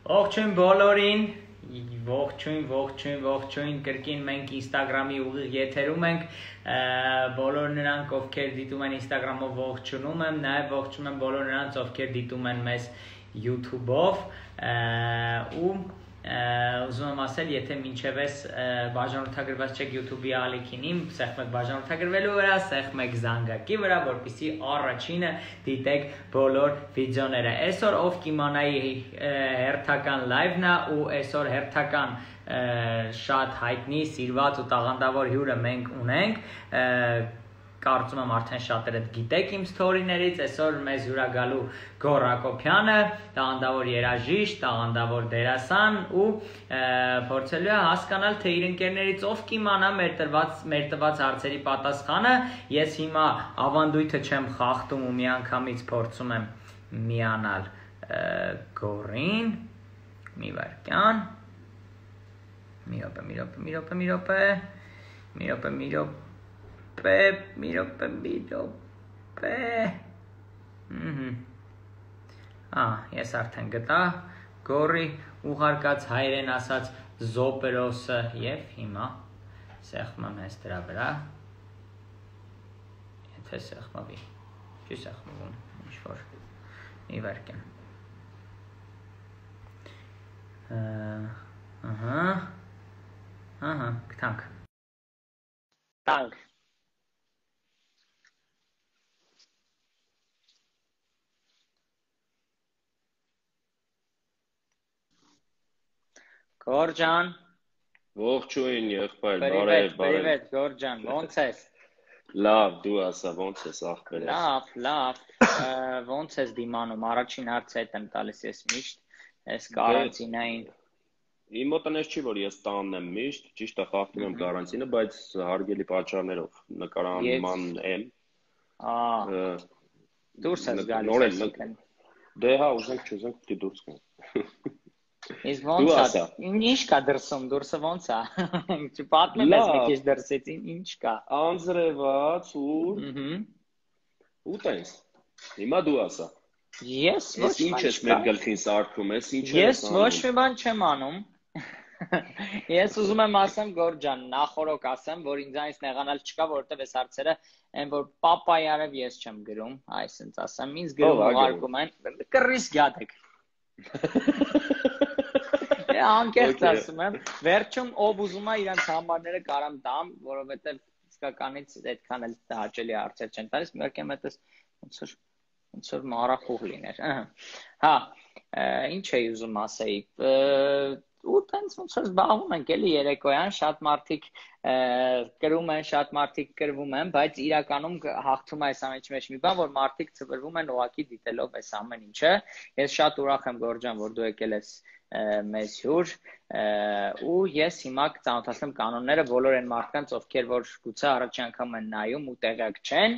Ողջույն բոլորին, ողջույն, կրկին մենք Instagram-ի ուղիղ եթերում ենք, բոլոր նրանք, ովքեր դիտում են Instagram-ով ողջունում եմ, նաև ողջում եմ բոլոր նրանց, ովքեր դիտում են մեզ YouTube-ով, ու ուզում եմ ասել, եթե մինչև ես բաժանորդագրված չեք YouTube-ի ալիքին, սեղմ եք բաժանորդագրվելու վրա, սեղմ եք զանգակի վրա, որպեսզի առաջինը դիտեք բոլոր վիդեոները։ Այսօր ով կիմանայի հերթական լայվն է ու այսօր հերթական շատ հայտնի, սիրված ու տաղանդավոր հյուրը մենք ունենք, կարծում եմ արդեն շատերը գիտեք իմ սթորիներից, այսօր մեզ հյուրագալու Գոռ Հակոբյանը, տաղանդավոր երաժիշտ, տաղանդավոր դերասան ու փորձելու է հասկանալ, թե իր ընկերներից ով կիմանա մեր տված հարցերի պատասխանը, ես հիմա ավանդույթը չեմ խախտում ու միանգամից փորձում եմ միանալ Գոռին, մի վայրկյան, մի րոպե, ես արդեն գտա Գոռի ուղարկած հայերեն ասած զոպերոսը և հիմա սեղմեմ հենց դրա վրա, եթե սեղմվի, չի սեղմվում, ինչ-որ մի վայրկյան, գտանք Տանք Գոռ ջան, Ողջույն եղբայր, բարև, Գոռ ջան, ոնց ես։ Լավ, դու ասա, ոնց ես ախպերս։ Լավ, ոնց ես դիմանում, առաջին հարցը հետ եմ տալիս ես միշտ, ես կարանտինային։ Իմ մոտ չի, որ ես տանն եմ միշտ, ճիշտ է խախտում եմ կարանտինը, բայց հարգելի պատճառներով նկարանման եմ։ Դուրս ես գալիս։ Դե հա, ուզենք չուզենք պիտի դուրս գանք։ Իսկ ոնց է, ինչ կա դրսում, դուրսը ոնց է, չպատմեմ ես մի քիչ դրսից, ինչ կա։ Անձրևաց ու տենց, հիմա դու ասա։ Ես ոչ մի ինչ ես մեր գլխին սարքում ես, ինչ ես ոչ մի բան չեմ անում, ես ուզում եմ ասեմ Գոռ ջան, նախորոք ասեմ, որ ինձանից նեղանալ չկա, որովհետև այս հարցերը են, որ պապայարև ես չեմ գրում, այսինքն ասեմ, ինձ գրում ուղարկում են, կռիս գյադեք։ Անկեղծ ասում եմ, վերջում ով ուզում է իրանց համարները կարամ տամ, որովհետև իսկականից այդքան էլ հաճելի հարցեր չեն տալիս, մերկեմ հետս ոնց որ մարախուղ լիներ։ Հա, ինչ էի ուզում ասեի, ու տենց ոնց որ զբաղվում ենք էլի երեկոյան, շատ մարդիկ կրում են, շատ մարդիկ կրվում են, բայց իրականում հաղթում է այս ամենի մեջ մի բան, որ մարդիկ ծվրվում են ուղղակի դիտելով այս ամեն ինչը։ Ես շատ ուրախ եմ Գոռ ջան, որ դու եկել ես մեզ հյուր, ու ես հիմա կծանոթացնեմ կանոնները բոլոր այն մարդկանց, ովքեր որ գուցե առաջին անգամ են նայում ու տեղյակ չեն։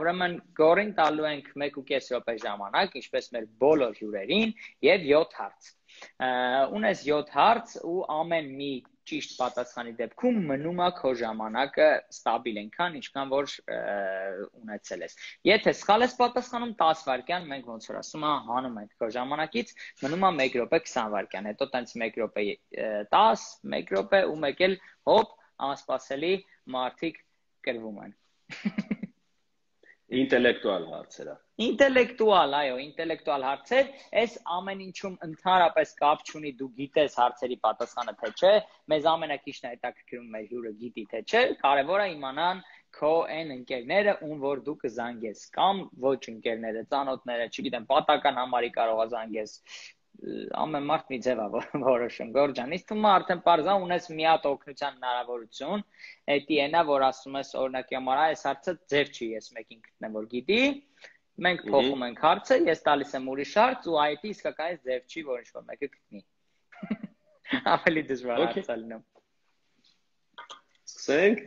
Ուրեմն Գոռին տալու ենք 1.5 րոպե ժամանակ, ինչպես մեր բոլոր հյուրերին, եւ 7 հարց։ Ունես 7 հարց ու ամեն մի ճիշտ պատասխանի դեպքում մնում է քո ժամանակը ստաբիլ այնքան, ինչքան որ ունեցել ես։ Եթե սխալ ես պատասխանում 10 վայրկյան, մենք ոնց որ ասում ենք, հանում ենք քո ժամանակից, մնում է 1 րոպե 20 վայրկյան, հետո տենց 1 րոպե 10, 1 րոպե ու մեկ էլ հոպ, անսպասելի մարդիկ կրվում են։ Ինտելեկտուալ հարցերը։ Ինտելեկտուալ, այո, ինտելեկտուալ հարցեր, այս ամեն ինչում ընդհանրապես կապ չունի, դու գիտես հարցերի պատասխանը թե չէ, մեզ ամենակիչն է հետաքրքրում մեր հյուրը գիտի թե չէ, կարևոր է իմանան քո այն ընկերները, ում որ դու կզանգես, կամ ոչ ընկերները, ծանոթները, չգիտեմ, պատական համարի կարող է զանգես, ամեն մարդ մի ձև է որոշում, Գոռ ջան, իսկ թվում է արդեն պարզան ունես մի հատ օգնության հնարավորություն, էդի ենա, որ ասում ես օրինակի համար այս հարցը ձեր չի, ես մեկին գտնեմ, որ գիտի, մենք փոխում ենք հարցը, ես տալիս եմ ուրիշ հարց ու այդ իսկականից ձև չի, որ ինչ-որ մեկը գտնի։ Ավելի դժվար հարց է լինում։ Սկսենք։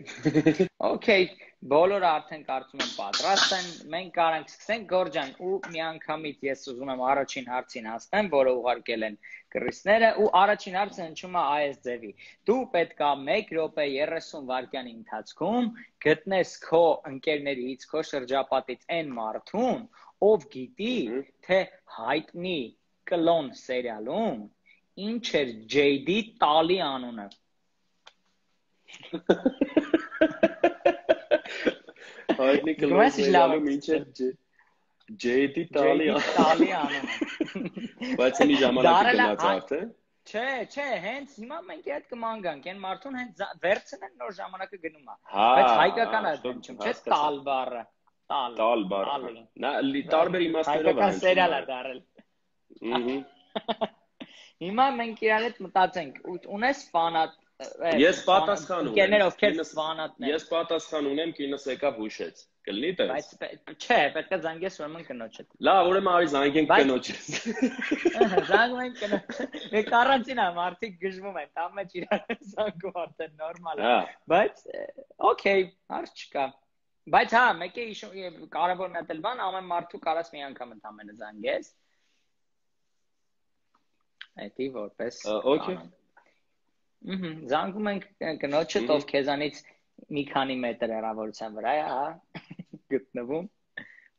Okay, բոլորը արդեն կարծում եմ պատրաստ են, մենք կարանք սկսենք Գոռ ջան, ու միանգամից ես ուզում եմ առաջին հարցին հասնեմ, որը ուղարկել են կռիսները, ու առաջին հարցը հնչում է այս ձևի։ Դու պետք է 1 րոպե 30 վայրկյանի ընթացքում գտնես քո ընկերներից, քո շրջապատից այն մարդուն, ով գիտի, թե հայտնի կլոն սերիալում ինչ էր JD տալի անունը։ Հայտնի կլոն սերիալում ինչ էր JD տալի անունը։ Բայց մի ժամանակ գնաց արդեն։ Չէ, հենց հիմա մենք այդ կմանգանք, այն մարդուն հենց վերցնեն նոր ժամանակը գնում է։ Բայց հայկական է դեմ, չէ՞ տալ բառը։ Տալ բառը։ Նա տարբեր իմաստներով է։ Հայկական սերիալ է դարել։ Հիմա մենք իրար հետ մտածենք, ունես ֆանատ։ Ես պատասխան ունեմ։ Կերներ ովքեր ֆանատներ։ Ես պատասխան ունեմ, կինս եկավ հուշեց։ Կլինի տես։ Բայց չէ, պետք է զանգես ուրեմն կնոջդ։ Լավ, ուրեմն արի զանգենք կնոջից։ Զանգում ենք կնոջը։ Մեկ առանցին է, մարդիկ գժվում են, տամ մեջ իրար զանգում արդեն նորմալ է։ Բայց օքեյ, հարց չկա։ Բայց հա, մեկ է կարևորն է դել բան, ամեն մարդու կարաս մի անգամ ընդամենը զանգես։ Էդի որպես։ Okay։ Զանգում ենք կնոջդ, ով քեզանից մի քանի մետր հեռավորության վրա է, հա, գտնվում։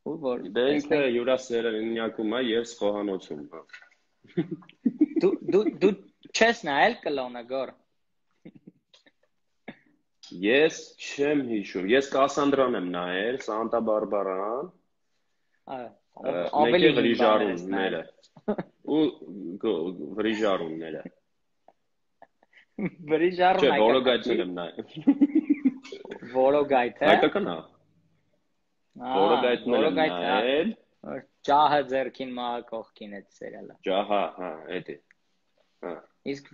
Ու որ դե ինքը յուրա սերնդակում է եւ խոհանոցում, հա։ Դու չես նայել կլոնը գոր։ Ես չեմ հիշում։ Ես Կասանդրան եմ նայել, Սանտա Բարբարան։ Ավելի վրիժարունները։ Ու վրիժարունները։ Վրիժարուն Չէ, Որոգայթն եմ նայել։ Որոգայթը։ Հայկական է։ Որոգայթն եմ նայել։ Ջահը ձերքին մահը կողքին այդ սերիալը։ Ջահա, հա, էդի։ Հա։ Իսկ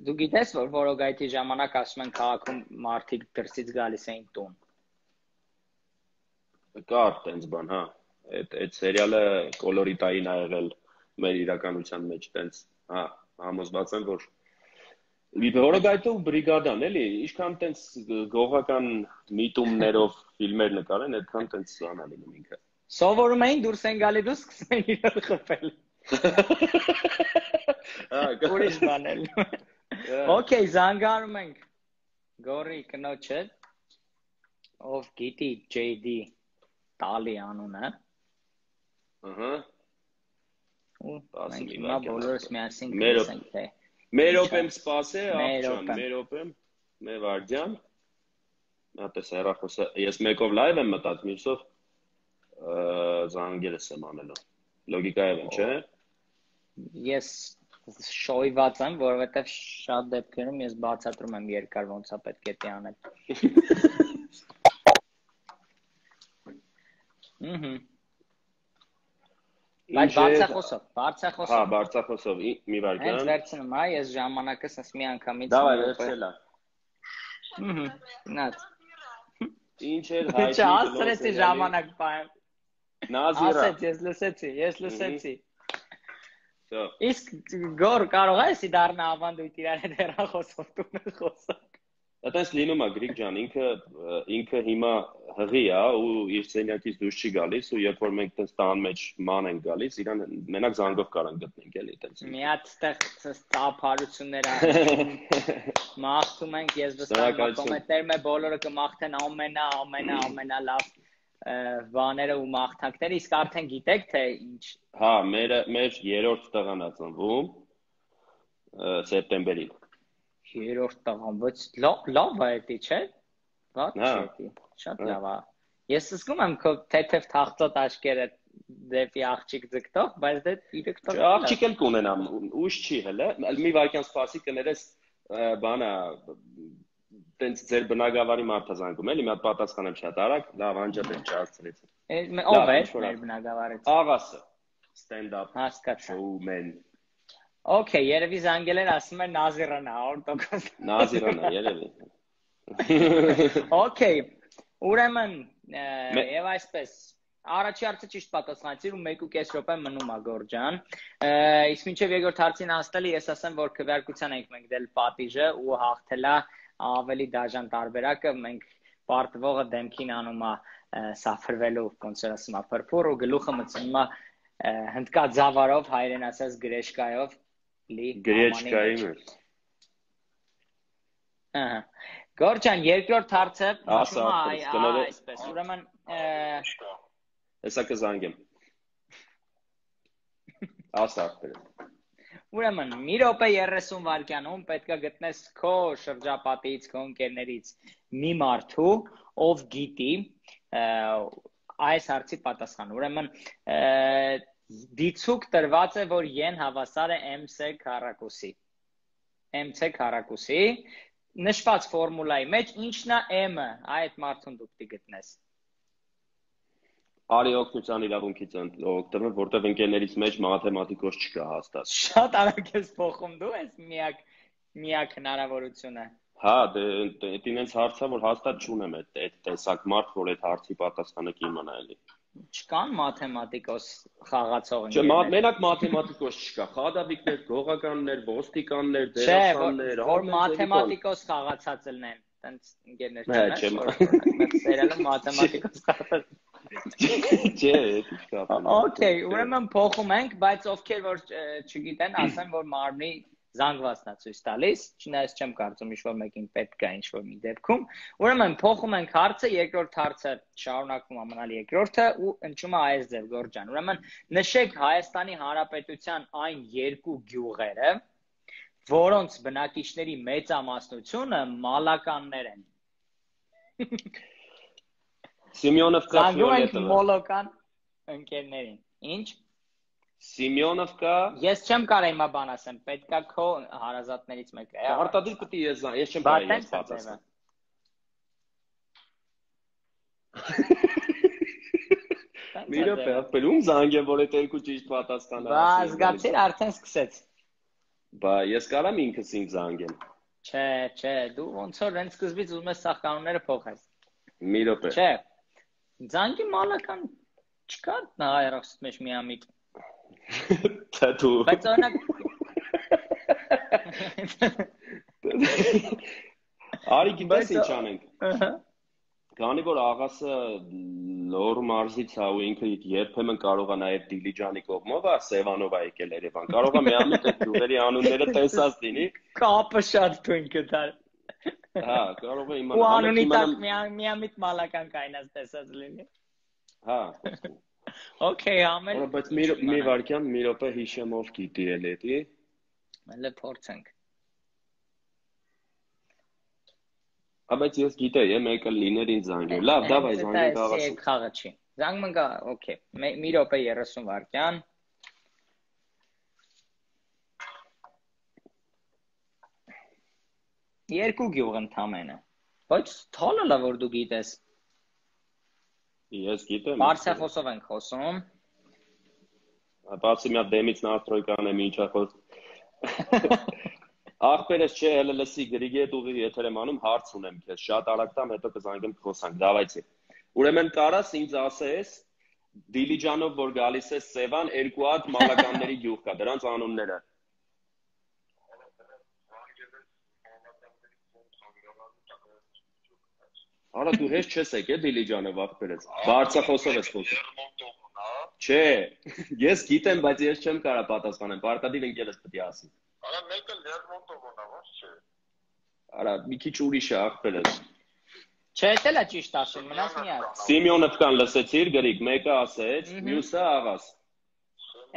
դու գիտես որ Որոգայթի ժամանակ ասում են քաղաքում մարդիկ դրսից գալիս էին տուն։ Կար տենց բան, հա։ Այդ սերիալը կոլորիտային ա եղել մեր իրականության մեջ տենց, հա, համոզված եմ որ Որոգայթը ու բրիգադան, էլի, ինչքան տենց գողական միտումներով ֆիլմեր նկարեն, այդքան տենց սանա լինում ինքը։ Սովորում էին դուրս են գալի դու սկսում են իրար խփել։ Ուրիշ բանել։ Okay, զանգարում ենք Գորի կնոջը, ով գիտի JD տալի անունը։ Ահա։ Ու մենք հիմա բոլորս միասին կսենք թե Մերոպ եմ սպասե, աղջան, մերոպ եմ, մեր վարդյան, տես հեռախոսը, ես մեկով լայվ եմ մտած, մյուսով զանգերս եմ անելով, լոգիկայով եմ, չէ։ Ես շոյված եմ, որովհետև շատ դեպքերում ես բացատրում եմ երկար ոնց է պետք է անել։ Բայց բարձախոսով։ Հա, բարձախոսով, մի վարկյան։ Հենց վերցնում, հա, ես ժամանակս ես մի անգամից։ Դավայ, վերցելա։ Նած։ Ինչ էր հայտնի։ Չէ, ասրեցի ժամանակ պայեմ։ Նազիրա։ Ասեց, ես լսեցի։ Իսկ գոր կարող ես դառնա ավանդույթ իրար հետ հեռախոսով տուն խոսակ։ Այդպես լինում է Գրիգ ջան, ինքը հիմա հղի է ու իր սենյակից դուրս չի գալիս ու երբ որ մենք տես տան մեջ ման ենք գալիս, իրան մենակ զանգով կարան գտնենք էլի տես։ Մի հատ ստեղ ծափարություններ մաղթում ենք, ես վստահ եմ կոմենտներում բոլորը կմաղթեն ամենալավ բաները ու մաղթանքները, իսկ արդեն գիտեք թե ինչ։ Հա, մեր երրորդ տղան է ծնվում սեպտեմբերին։ Երրորդ տղան, բայց լավ է էդի, չէ՞։ Ված չէ, շատ լավ է։ Ես զգում եմ քո թեթև թախծոտ աչքերը դեպի աղջիկ ձգտող, բայց դե իրեք տղա։ Աղջիկ էլ կունենամ, ուշ չի հələ։ Մի վայրկյան սպասի կներես բանա տենց ձեր բնակավարի մարդը զանգում էլի, մի հատ պատասխան եմ շատ արագ, լավ անջատ եմ չհասցրեցի։ Ով է մեր բնակավարից։ Աղասը։ Stand up. Հասկացա։ Showman։ Okay, երևի զանգել են ասում են Նազիրան է 100%։ Նազիրան է, երևի։ Okay, ուրեմն եւ այսպես առաջի հարցը ճիշտ պատասխանեցիր ու 1.5 րոպե մնում է Գորջան։ Իսկ մինչեւ երկրորդ հարցին հասնելը ես ասեմ, որ քվեարկության ենք մենք դել պատիժը ու հաղթելա ավելի դաժան տարբերակը, մենք պարտվողը դեմքին անում է սափրվելու ոնց ասում է փրփուր ու գլուխը մտցնում է հնդկա ձավարով հայերեն ասած գրեշկայով Գրեչկայի մեջ։ Ահա։ Գորջան, երկրորդ հարցը ասա, այսպես, ուրեմն հեսա կզանգեմ։ Ասա ախպերս։ Ուրեմն, մի րոպե 30 վայրկյանում պետք է գտնես քո շրջապատից, քո ընկերներից մի մարդու, ով գիտի այս հարցի պատասխանը։ Ուրեմն, դիցուկ տրված է, որ են հավասար է MC քառակուսի։ MC քառակուսի նշված ֆորմուլայի մեջ ինչն է M-ը, այդ մարդուն դու պետք է գտնես։ Արի օգնության իրավունքից օգտվում, որտեղ ընկերներից մեջ մաթեմատիկոս չկա հաստատ։ Շատ արագ ես փոխում դու ես միակ հնարավորությունը։ Հա, դե ինձ հարցա որ հաստատ չունեմ այդ տեսակ մարդ, որ այդ հարցի պատասխանը կիմանա էլի։ Չկան մաթեմատիկոս խաղացող ընկերներ։ Չէ, մենակ մաթեմատիկոս չկա, խադավիկներ, գողականներ, ոստիկաններ, դերասաններ, որ մաթեմատիկոս խաղացած լինեն, տենց ընկերներ չունես, սերիալը մաթեմատիկոս խաղացած։ Չէ, չկա։ Okay, ուրեմն փոխում ենք, բայց ովքեր որ չգիտեն, ասեմ որ մարմնի զանգվածն է ցույց տալիս, չնայած չեմ կարծում ինչ-որ մեկին պետք է ինչ-որ մի դեպքում։ Ուրեմն փոխում ենք հարցը, երկրորդ հարցը շարունակվում է մնալ երկրորդը ու ընչում է այս ձև Գորջան։ Ուրեմն նշեք Հայաստանի Հանրապետության այն երկու գյուղերը, որոնց բնակիչների մեծամասնությունը մալականներ են։ Սիմեոնովկա, Ֆիոլետովա։ Մոլոկան ընկերներին։ Ինչ? Սիմեոնովկա։ Ես չեմ կարող հիմա բան ասեմ, պետքա քո հարազատներից մեկը։ Արտադիր պետք է ես չեմ կարող ես պատասխան։ Մի րոպե, ապելում զանգեմ, որ այդ երկու ճիշտ պատասխանը ասի։ Բա զգացիր արդեն սկսեց։ Բա ես կարամ ինքս ինձ զանգեմ։ Չէ, դու ոնց որ հենց սկզբից ուզում ես սաղ կանոնները փոխես։ Մի րոպե։ Չէ։ Զանգի մալական չկա նա երախսուտ մեջ միամիտ։ Դու։ Բայց օրինակ Արի գիտես ինչ անենք։ Քանի որ աղասը լոր մարզից է ու ինքը երբեմն կարող է նաև Դիլիջանի կողմով է Սևանով է եկել Երևան։ Կարող է միամիտ այդ գյուղերի անունները տեսած լինի։ Կապը շատ թույն կտար։ Հա, կարող է իմանալ։ Ու անունի տակ միամիտ մալական կայնած տեսած լինի։ Հա։ Okay, ամեն։ Բայց մի վարքյան, մի րոպե հիշեմ ով գիտի էլի էդի։ Մելը փորձենք։ Բայց ես գիտեի, մեկը լիներ ինձ զանգել։ Լավ, դավայ զանգենք աղաս։ Այդ խաղը չի։ Զանգում գա, okay։ Մի րոպե 30 վայրկյան։ Երկու գյուղ ընդամենը։ Բայց թալը լավ որ դու գիտես։ Ես գիտեմ։ Բարսախոսով ենք խոսում։ Բացի մի հատ դեմից նաստրոյկան եմ ինչա խոս։ Ախպերս չէ, հələ լսի գրիգի հետ ուղի եթեր եմ անում, հարց ունեմ քեզ, շատ արագ տամ, հետո կզանգեմ խոսանք, դավայցի։ Ուրեմն կարաս ինձ ասես Դիլիջանով որ գալիս է Սևան, երկու հատ մալականների գյուղ կա, դրանց անունները։ Արա դու հեշտ չես եկել Դիլիջանով ախպերս։ Բարսախոսով ես խոսում։ Չէ, ես գիտեմ, բայց ես չեմ կարող պատասխանել, պարտադիր ընկերս պետք է ասի։ Արա մեկը Լերմոնտովն է, ո՞նց չէ։ Արա մի քիչ ուրիշ է ախպերս։ Չէ, դա ճիշտ ասում, մնաց մի հատ։ Սիմեոնովկան լսեցիր գրիկ, մեկը ասեց, մյուսը աղաս։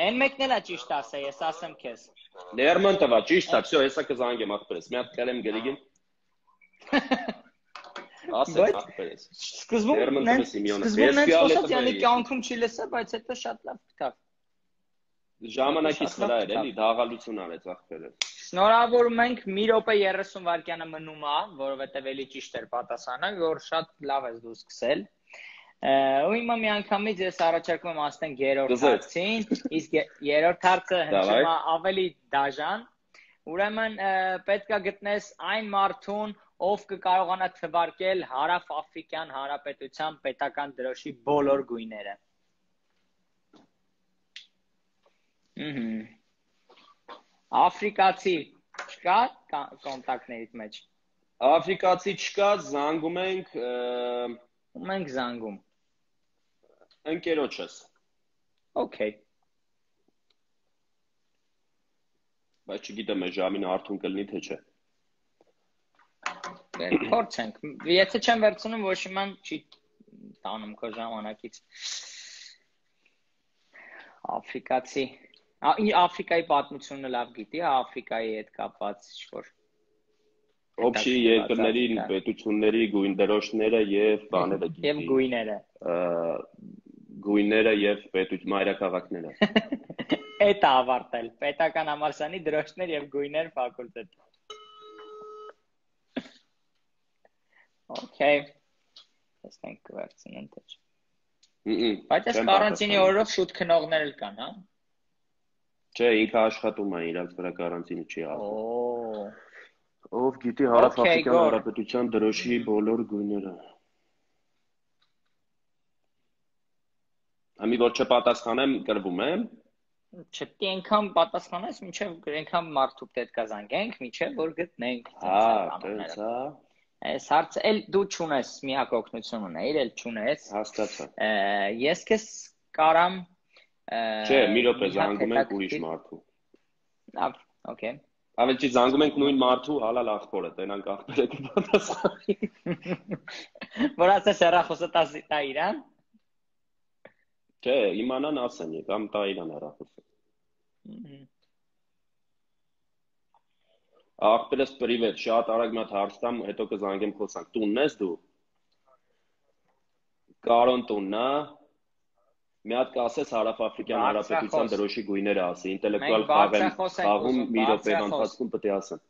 Այն մեկն էլ է ճիշտ ասա, ես ասեմ քեզ։ Լերմոնտովա ճիշտ է, всё, հեսա կզանգեմ ախպերս։ Մի հատ կերեմ գրիգին։ Ասեց ախպերս։ Սկզբում նենց խոսած յանի կյանքում չի լսա, բայց հետո շատ լավ գտավ։ Ժամանակից վրա էր էլի, դաղալություն արեց ախպերը։ Շնորհավորում ենք, մի րոպե 30 վայրկյանը մնում է, որովհետև էլի ճիշտ էր պատասխանը, որ շատ լավ ես դու սկսել։ Ու հիմա մի անգամից ես առաջարկում եմ ասենք երրորդ հարցին, իսկ երրորդ հարցը հնչում է ավելի դաժան։ Ուրեմն պետք է գտնես այն մարդուն, ով կկարողանա թվարկել Հարավ-Աֆրիկյան Հանրապետության պետական դրոշի բոլոր գույները։ Աֆրիկացի չկա կոնտակտներից մեջ։ Աֆրիկացի չկա, զանգում ենք ում ենք զանգում։ Ընկերոջս։ Okay։ Բայց չգիտեմ այս ժամին արդյուն կլինի թե չէ։ Փորձենք։ Եթե չեմ վերցնում, ոչ իման չի տանում քո ժամանակից։ Աֆրիկացի Աֆրիկայի պատմությունը լավ գիտի, Աֆրիկայի հետ կապված ինչ-որ Օբշի երկրների պետությունների գույնդրոշները եւ բաները գիտի։ Եվ գույները։ Գույները եւ մայրաքաղաքները։ Էդ ավարտել։ Պետական համալսարանի դրոշներ եւ գույներ ֆակուլտետ։ Okay. Տեսնենք կվերցնեն թե չէ։ Բայց այս կարանտինի օրով շուտ քնողներ էլ կան, հա։ Չէ, ինքը աշխատում է, իրանց վրա կարանտինը չի աղում։ Օ։ Ով գիտի Հարավաֆրիկյան Հանրապետության դրոշի բոլոր գույները։ Համի որ չպատասխանեմ, կրվում եմ։ Չպետք է այնքան պատասխանես, մինչև այնքան մարդու պետք է զանգենք, մինչև որ գտնենք։ Հա, տենց հա։ Այս հարցը էլ դու չունես, միակ օգնություն ունեիր, էլ չունես։ Հաստատա։ Ես քեզ կարամ Չէ, մի րոպե զանգում ենք ուրիշ մարդու։ Լավ, օքեյ։ Ավելի զանգում ենք նույն մարդու, հալալ աղբորը, տենանք աղբերը կպատասխանի։ Որ ասես հեռախոսը տա իրան։ Չէ, իմանան ասեն, կամ տա իրան հեռախոսը։ Աղբերս պրիվետ, շատ արագ մի հատ հարց տամ, հետո կզանգեմ խոսանք։ Տունն ես դու։ Կարոն տունն է։ Մի հատ կասես Հարավաֆրիկյան Հանրապետության դրոշի գույները ասի, ինտելեկտուալ խաղում մի րոպե ընթացքում պետք է ասեն։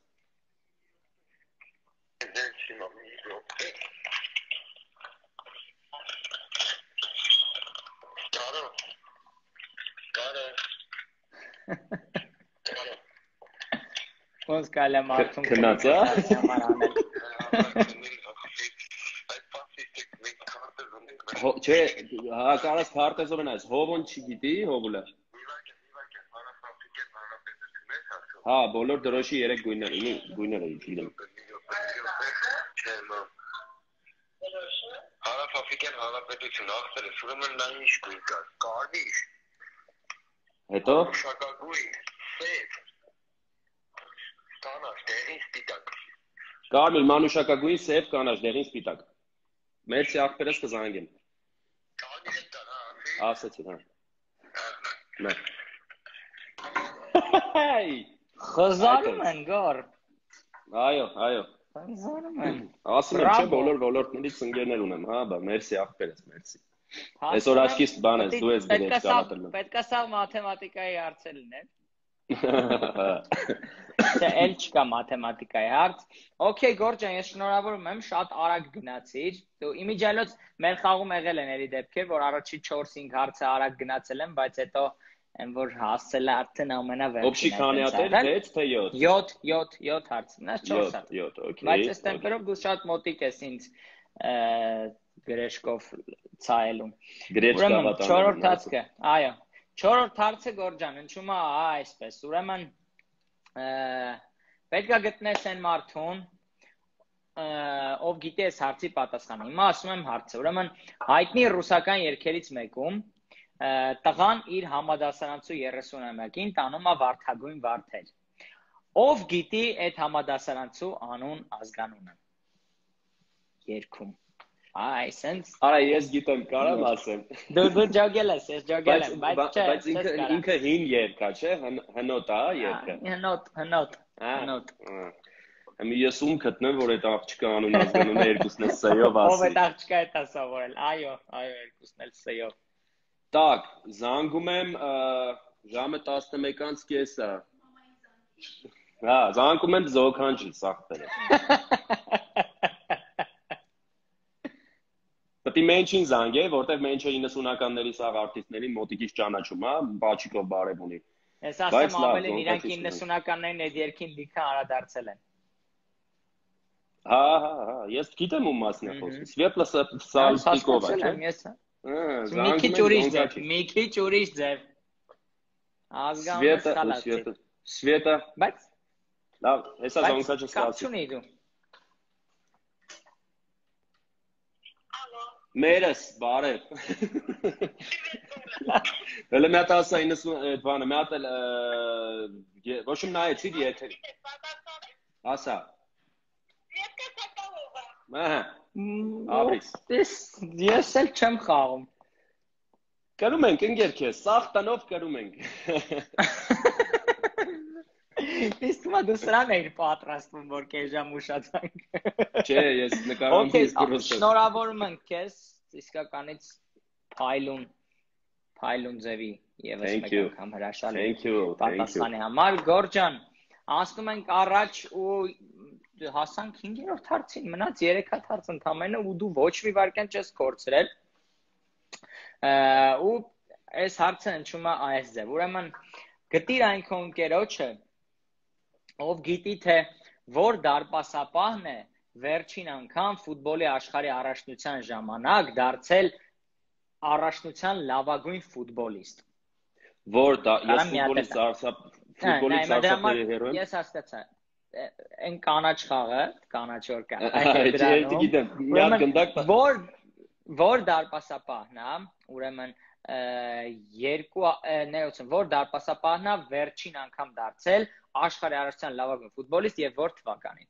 Ոնց կալը մարդուն քնած է։ Չէ, հա կարաս քարտեզով են այս, հովոն չգիտի, հովուլը։ Հա, բոլոր դրոշի 3 գույները գիտեմ։ Հարավաֆրիկյան Հանրապետություն աղբերս, ուրեմն նա ինչ գույն կա, կարմիր։ Հետո Շակագույն, սև։ Կանաչ, դեղին սպիտակ։ Կարմիր, մանուշակագույն, սև, կանաչ, դեղին սպիտակ։ Մերսի աղբերս կզանգեմ։ Կարմիր են տան, հա։ Ասեցին, հա։ Մեր։ Խզարում են գոր։ Այո։ Խզարում են։ Ասում եմ, չէ, բոլոր ոլորտներից ընկերներ ունեմ, հա, բա, մերսի աղբերս, մերսի։ Այսօր աչքիս բան ես, դու ես գրել կարատել։ Պետք է սա մաթեմատիկայի հարց լիներ։ Չէ, էլ չկա մաթեմատիկայի հարց։ Okay, Գորջան, ես շնորհավորում եմ, շատ արագ գնացիր։ Դու իմիջիալոց մեր խաղում եղել են էլի դեպքեր, որ առաջի 4-5 հարցը արագ գնացել են, բայց հետո այն որ հասել է արդեն ամենավերջին։ Օբշի քանի հատ էր, 6 թե 7 հարց, մնաց 4 հատ։ 7, okay։ Բայց այս տեմպերով դու շատ մոտիկ ես ինձ գրեշկով ցայելուն։ Ուրեմն 4-րդ հարցը, այո։ 4-րդ հարցը Գորջան, հնչում է այսպես։ Ուրեմն պետք է գտնես այն մարդուն, ով գիտի այս հարցի պատասխանը։ Հիմա ասում եմ հարցը։ Ուրեմն հայտնի ռուսական երգերից մեկում տղան իր համադասարանցու 30-ամյակին տանում է վարդագույն վարդեր։ Ով գիտի այդ համադասարանցու անուն ազգանունը։ Երգում։ Այ, սենց։ Արա, ես գիտեմ, կարամ ասեմ։ Դու ջոգել ես, ես ջոգել եմ, բայց չէ։ Բայց ինքը հին երգ է, չէ, հնոտ է, երգը։ Հնոտ։ Հիմա ես ում գտնեմ, որ այդ աղջկա անուն ազգանունը երկուսն է սեյով ասի։ Ով այդ աղջկա է սովորել։ Այո, երկուսն էլ սեյով։ Так, զանգում եմ ժամը 11:30-ը։ Հա, զանգում եմ Զոքանջի սախտերը։ Պետք է մենչին զանգե, որտեվ մենչը 90-ականների սաղ արտիստներին մոտիկից ճանաչում, հա, բաչիկով բարև ունի։ Ես ասեմ ամենին իրանք 90-ականներին այդ երկին լիքը անդրադարձել են։ Հա, ես գիտեմ ում մասն է խոսքը։ Սվետլա Սալտիկովա, չէ։ Մի քիչ ուրիշ ձև։ Ազգանունը ստալացի։ Սվետա։ Բայց լավ, հեսա Զոնքաչը ստացի։ Կապ չունի դու։ Մերս, բարև։ Հələ մի հատ ասա 90 բանը, մի հատ էլ ոչ իմ նայեցիր եթե։ Ասա։ Ահա։ Ապրես։ Ես էլ չեմ խաղում։ Կրում ենք ընկեր քեզ, սաղ տնով կրում ենք։ Իսկ դու սրան էիր պատրաստվում, որ կես ժամ ուշացանք։ Չէ, ես նկարում եմ դիսկուրսը։ Շնորհավորում ենք քեզ, իսկականից փայլուն ձևի եւս մեկ անգամ հրաշալի պատասխանի համար։ Գորջան, անցնում ենք առաջ ու հասանք 5-րդ հարցին, մնաց 3 հարց ընդամենը ու դու ոչ մի վարքյան չես կորցրել։ Ու այս հարցը հնչում է այս ձև։ Ուրեմն գտիր այն քո ընկերոջը, ով գիտի թե որ դարպասապահն է վերջին անգամ ֆուտբոլի աշխարհի առաջնության ժամանակ դարձել առաջնության լավագույն ֆուտբոլիստ։ Որ դա ես ֆուտբոլի սարսափելի հերոյ։ Ես հասկացա։ Այն կանաչ խաղը, կանաչ որ կա։ Գիտեմ, մի հատ գնդակ որ դարպասապահն է, ուրեմն որ դարպասապահն է վերջին անգամ դարձել աշխարհի առաջնության լավագույն ֆուտբոլիստ եւ որ թվականին։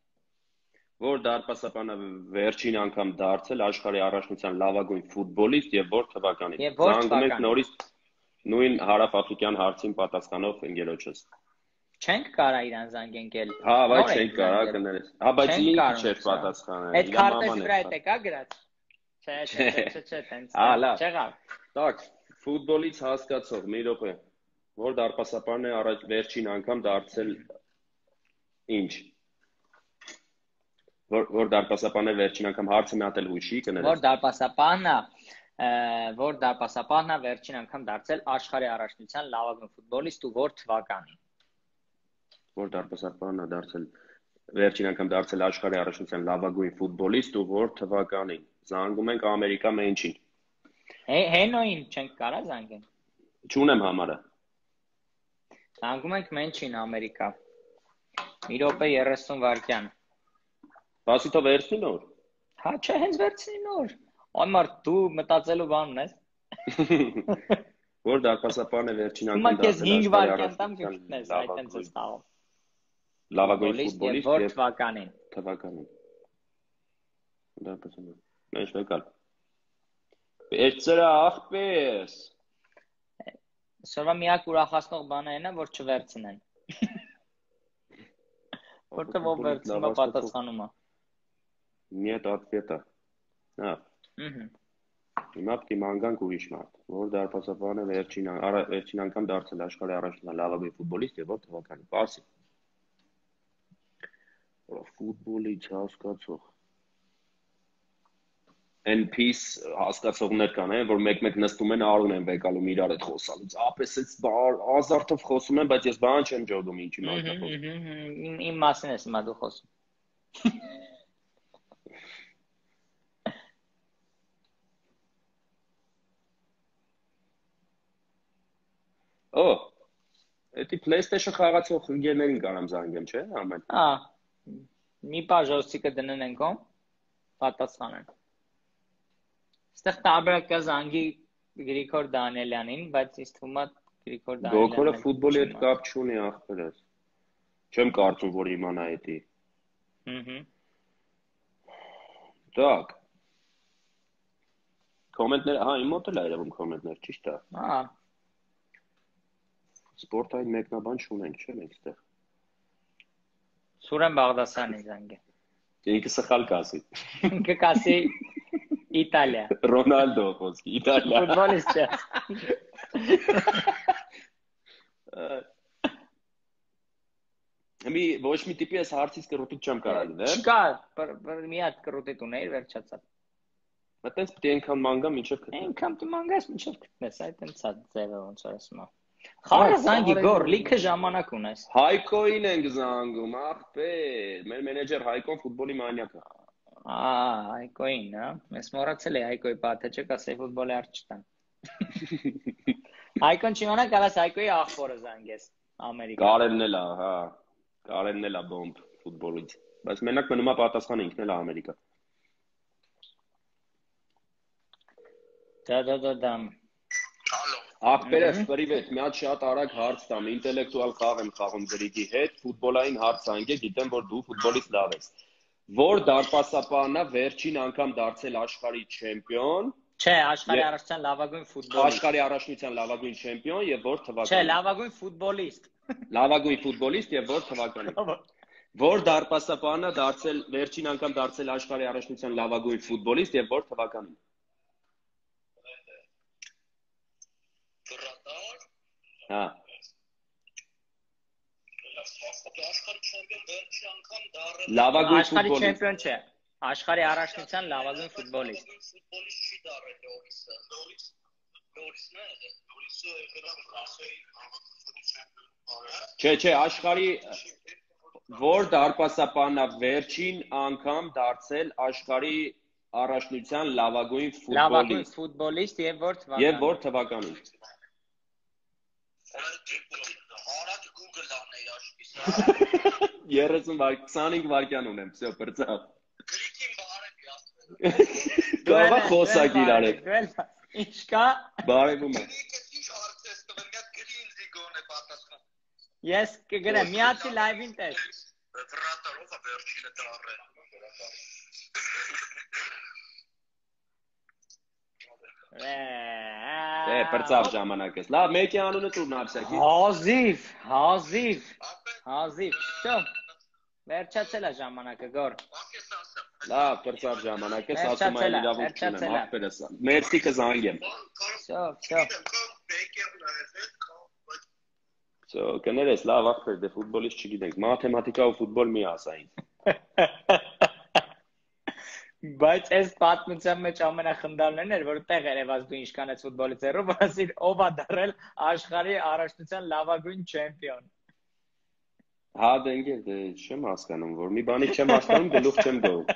Որ դարպասապահն է վերջին անգամ դարձել աշխարհի առաջնության լավագույն ֆուտբոլիստ եւ որ թվականին։ Զանգում ենք նորից նույն հարավաֆրիկյան հարցին պատասխանող ընկերոջս։ Չենք կարա իրան զանգենք էլ։ Հա, բայց չենք կարա կներես։ Հա, բայց ինքը չէր պատասխանել։ Այդ քարտեզ վրա է կա գրած։ Չէ, տենց։ Չեղավ։ Так, ֆուտբոլից հասկացող մի րոպե։ Որ դարպասապահն է վերջին անգամ դարձել ինչ։ Որ դարպասապահն է վերջին անգամ հարցը մի հատ էլ հույշի կներես։ Որ դարպասապահն է վերջին անգամ դարձել աշխարհի առաջնության լավագույն ֆուտբոլիստ ու որ թվականին։ Որ դարպասապահն է դարձել վերջին անգամ դարձել աշխարհի առաջնության լավագույն ֆուտբոլիստ ու որ թվականին։ Զանգում ենք Ամերիկա Մենչին։ Հենոին չենք կարա զանգենք։ Չունեմ համարը։ Զանգում ենք Մենչին Ամերիկա։ Մի րոպե 30 վայրկյան։ Բասի թող վերցնի նոր։ Հա, չէ, հենց վերցնի նոր։ Այ մարդ դու մտածելու բանն ես։ Որ դարպասապահն է վերջին անգամ դարձել աշխարհի 5 վայրկյան տամ կգտնես, այդ տենց է ստաղում։ Լավագույն ֆուտբոլիստ եւ թվականին։ Դարպասապահ։ Մեծ եկալ։ Էցրա ախպես։ Սովորաբար միակ ուրախացնող բանը այն է, որ չվերցնեն։ Որտեղ ով վերցնում է պատասխանում է։ Нет ответа։ Հա։ Հիմա պետք է մանգանք ուրիշ մարդ, որ դարպասապահն է վերջին անգամ դարձել աշխարհի առաջնության լավագույն ֆուտբոլիստ եւ որ թվականին։ Պարսի։ Ֆուտբոլից հասկացող։ NPS հասկացողներ կան, որ մեկ-մեկ նստում են արուն են վեկալում իրար հետ խոսալուց։ Ապես էս ազարտով խոսում են, բայց ես բան չեմ ջոդում ինչի մասն է խոսում։ Իմ մասին ես հիմա դու խոսում։ Օ, էդի PlayStation խաղացող ընկերներին կարամ զանգեմ, չէ՞, ամեն։ Հա։ Մի պաժոստիկը դնեն ենքոմ, պատասխանեն։ Ստեղ տարբերակ կա զանգի Գրիգոր Դանիելյանին, բայց ինձ թվում է Գրիգոր Դանիելյանը։ Գոքորը ֆուտբոլի հետ կապ չունի ախպերս։ Չեմ կարծում, որ իմանա էդի։ Так. Կոմենտներ, հա, իմ մոտ էլ է երևում կոմենտներ, ճիշտ է։ Հա։ Սպորտային մեկնաբան չունենք, չէ՞ մենք այդտեղ։ Սուրեն Բաղդասարյանի զանգը։ Ինքը սխալ կասի։ Ինքը կասի Իտալիա։ Ռոնալդո խոսքի, Իտալիա։ Ֆուտբոլիստ չէ։ Մի ոչ մի տիպի էս հարցից կռուտիտ չեմ կարա լինել։ Չկա, մի հատ կռուտիտ ունեիր վերջացավ։ Մտենց պետք է այնքան մանգա մինչև գտնես։ Այնքան դու մանգաս մինչև գտնես, այդ այնց է ձևը ոնց որ ասում եմ։ Խաղը զանգի գոր, լիքը ժամանակ ունես։ Հայկոին ենք զանգում, ախպեր։ Մեր մենեջեր Հայկոն ֆուտբոլի մանյակ է։ Հայկոին, հա։ Ես մոռացել եմ Հայկոյի պատը, չէ՞ կասեի ֆուտբոլի արջ չտան։ Հայկոն չիմանա կարաս Հայկոյի աղբորը զանգես Ամերիկա։ Կարելն էլ է, հա։ Կարելն էլ է բոմբ ֆուտբոլից։ Բայց մենակ մնում է պատասխանը ինքն էլ է Ամերիկա։ Դա։ Ախպերս, պրիվետ, մի հատ շատ արագ հարց տամ, ինտելեկտուալ խաղ եմ խաղում Գրիգի հետ, ֆուտբոլային հարց անգե, գիտեմ, որ դու ֆուտբոլից լավ ես։ Որ դարպասապահն է վերջին անգամ դարձել աշխարհի չեմպիոն Չէ, աշխարհի առաջնության լավագույն ֆուտբոլիստ։ Աշխարհի առաջնության լավագույն չեմպիոն եւ որ թվականին։ Չէ, լավագույն ֆուտբոլիստ։ Լավագույն ֆուտբոլիստ եւ որ թվականին։ Որ դարպասապանը դարձել վերջին անգամ դարձել աշխարհի առաջնության լավագույն ֆուտբոլիստ եւ որ թվականին։ Հա։ Լավագույն Աշխարհի ֆուտբոլիստ։ չեմպիոն չէ։ Աշխարհի առաջնության լավագույն ֆուտբոլիստ։ չի դարել Լորիսն է, Չէ, աշխարհի որ դարպասապանն է վերջին անգամ դարձել աշխարհի առաջնության լավագույն Լավագույն ֆուտբոլիստ ֆուտբոլիստ եւ որ եւ որ թվականին։ թվականին։ Արագ Google անեի աշկիս։ 25 վայրկյան ունեմ, всё, բրծավ։ Գրիքին բարևի ասել։ Կարո՞ղ է խոսակ իրար։ Ինչ կա։ Բարևում է։ Գրիքը ինչ հարցես տվել, մի հատ գրի ինձի գոնե պատասխան։ Ես կգրեմ, միացի լայվին տես։ Վրատարով է վերջինը դարը։ Բրծավ ժամանակս։ Լավ, մեկի անունը տուր նավսակի։ Հազիվ։ Всё։ Վերջացել է ժամանակը, գոր։ Լավ, բրծավ ժամանակս, ասում այն իրավունք չունեմ, ախպերս։ Մերսի կզանգեմ։ Всё։ Всё, կներես, լավ ախպեր, դե ֆուտբոլիստ չգիտենք, մաթեմատիկա ու ֆուտբոլ մի ասա ինձ։ Բայց այս պատմության մեջ ամենախնդալներն էր, որ տեղ երևաց դու ինչքան ես ֆուտբոլից հեռու, ասիր ով է դարել աշխարհի առաջնության լավագույն չեմպիոն։ Հա, դե ընկեր, դե չեմ հասկանում, որ մի բանի չեմ հասկանում, գլուխ չեմ գովում։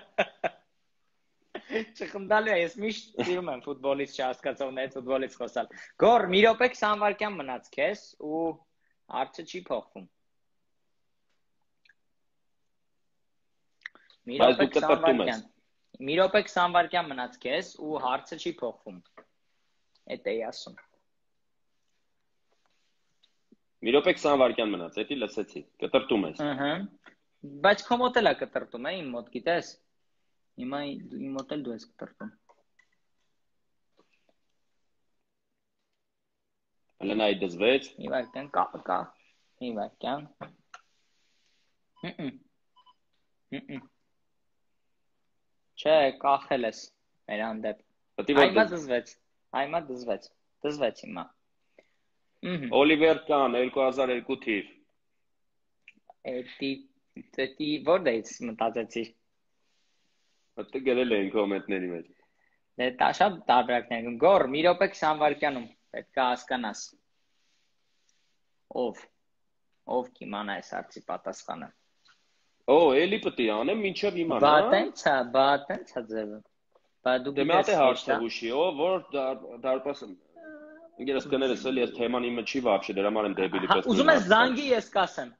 Չխնդալու է, ես միշտ սիրում եմ ֆուտբոլից չհասկացողներից ֆուտբոլից խոսալ։ Գոր, մի րոպե 20 վայրկյան մնաց քեզ ու հարցը չի փոխվում։ Մի րոպե 20 վայրկյան մնաց քեզ ու հարցը չի փոխվում։ Էդ էի ասում։ Մի րոպե 20 վայրկյան մնաց, էդի լսեցի, կտրտում ես։ Ահա։ Բայց քո մոտ էլ է կտրտում, իմ մոտ, գիտես։ Հիմա իմ մոտ էլ դու ես կտրտում։ Հələ նայ դզվեց։ Մի վայրկյան կա։ Մի վայրկյան։ Չէ, կախել ես մեր հանդեպ։ Այմա դզվեց։ Դզվեց հիմա։ Օլիվեր Կան 2002 թիվ։ Էդի որտեղից մտածեցի։ Հատը գրել էին կոմենտների մեջ։ Դե դա շատ տարբերակներ են։ Գոր, մի րոպե 20 վայրկյանում պետք է հասկանաս։ Ով կիմանա այս հարցի պատասխանը։ Էլի պետք է անեմ մինչև իմանա։ Բա տենց է ձևը։ Բա դու դե մատե հարցը հուշի, որ դարպաս ինքերս կներես էլի այս թեման իմը չի вообще, դրա համար եմ դեբիլի պես։ Ուզում ես զանգի ես կասեմ։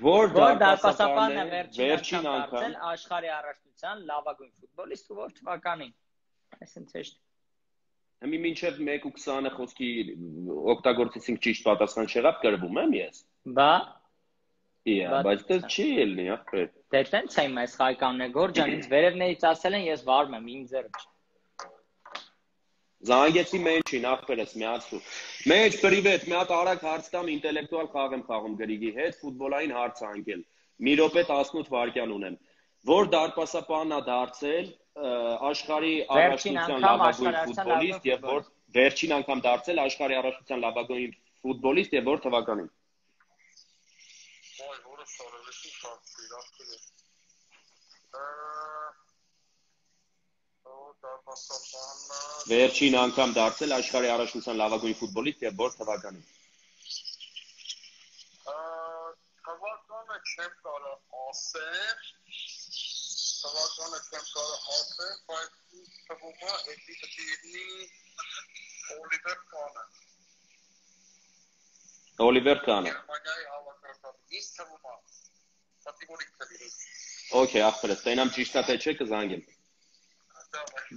Որ դարպասապանն է վերջին անգամ աշխարհի առաջնության լավագույն ֆուտբոլիստ ու որ թվականին։ Այսինքն ճիշտ։ Հիմի մինչև 1:20-ը խոսքի օգտագործեցինք ճիշտ պատասխան չեղավ գրվում եմ ես։ Բա բայց դա չի ելնի, ախպեր։ Դե տենց է իմ այս հայկանն է, Գորջան, ինձ վերևներից ասել են ես վարում եմ, իմ ձեռը։ Զանգեցի մեջին, ախպերս միացու։ Մեջ պրիվետ, մի հատ արագ հարց տամ, ինտելեկտուալ խաղ եմ խաղում Գրիգի հետ, ֆուտբոլային հարց անկել։ Մի րոպե 18 վայրկյան ունեմ։ Որ դարպասապանն է դարձել աշխարհի առաջնության լավագույն ֆուտբոլիստ եւ որ վերջին անգամ դարձել աշխարհի առաջնության լավագույն ֆուտբոլիստ եւ որ թվականին։ Վերջին անգամ դարձել աշխարհի առաջնության լավագույն ֆուտբոլիստ եւ որ թվականին։ Թվականը չեմ կարող ասել, բայց թվում է էդի դեպի Օլիվեր Կանը։ Օլիվեր Կանը։ Գերմանիայի հավաքական։ Ինչ թվում է։ Կատեգորիկ թվի։ Okay, ախպերս, տենամ ճիշտ է թե չէ կզանգեմ։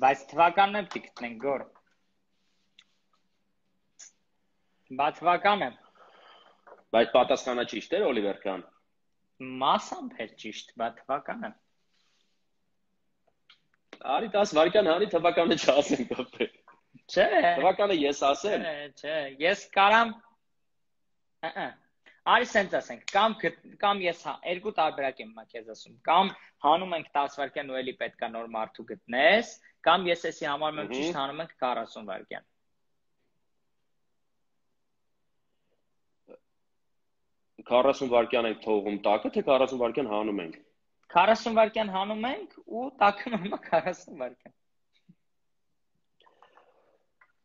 Բայց թվականն էլ գտնենք Գոր։ Բա թվականը։ Բայց պատասխանը ճիշտ էր Օլիվեր Կան։ Մասամբ էր ճիշտ, բա թվականը։ Արի 10 վայրկյան հանի թվականը չասեմ կապե։ Չէ։ Թվականը ես ասեմ։ Չէ, ես կարամ Արի սենց ասենք, կամ ես երկու տարբերակ եմ քեզ ասում, կամ հանում ենք 10 վայրկյան ու էլի պետքա նոր մարդու գտնես, կամ ես էսի համարում եմ ճիշտ հանում ենք 40 վայրկյան։ 40 վայրկյան ենք թողում տակը, թե 40 վայրկյան հանում ենք։ 40 վայրկյան հանում ենք ու տակը նորմալ 40 վայրկյան։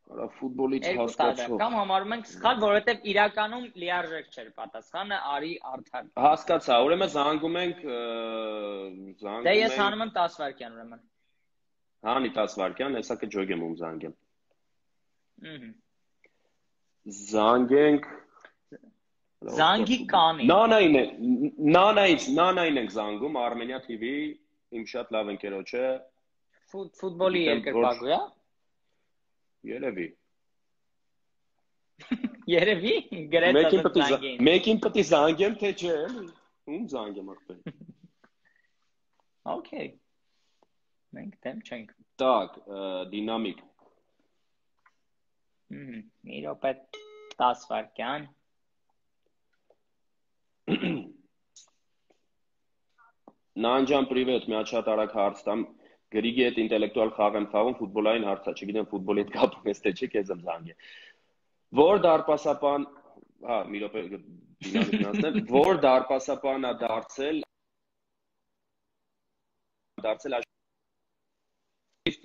Արա ֆուտբոլից Երկու հասկացող։ տարբերակ, կամ համարում ենք սխալ, որովհետև իրականում լիարժեք չէր պատասխանը, արի արդար։ Հասկացա, ուրեմն զանգում ենք Դե ես հանում եմ 10 վայրկյան ուրեմն։ Հանի 10 վայրկյան, հեսա կջոգեմ ում զանգեմ։ Զանգենք Զանգի կանին։ Նանային ենք զանգում, Armenia TV, իմ շատ լավ ընկերոջ է։ Ֆուտբոլի երկրպագու է։ Երևի գրեթե զանգին։ Մեկին պետք է զանգեմ, թե չէ, ում զանգեմ ախպեր։ Okay։ Մենք դեմ չենք։ Так, դինամիկ։ Մի րոպե 10 վայրկյան։ Նանջան պրիվետ, մի հատ շատ արագ հարց տամ։ Գրիգի հետ ինտելեկտուալ խաղ եմ խաղում, ֆուտբոլային հարց է, չգիտեմ ֆուտբոլի հետ կապ ունես թե չէ, քեզ եմ զանգել։ Որ դարպասապան, մի րոպե դինամիկն ասեմ, որ դարպասապանն է դարձել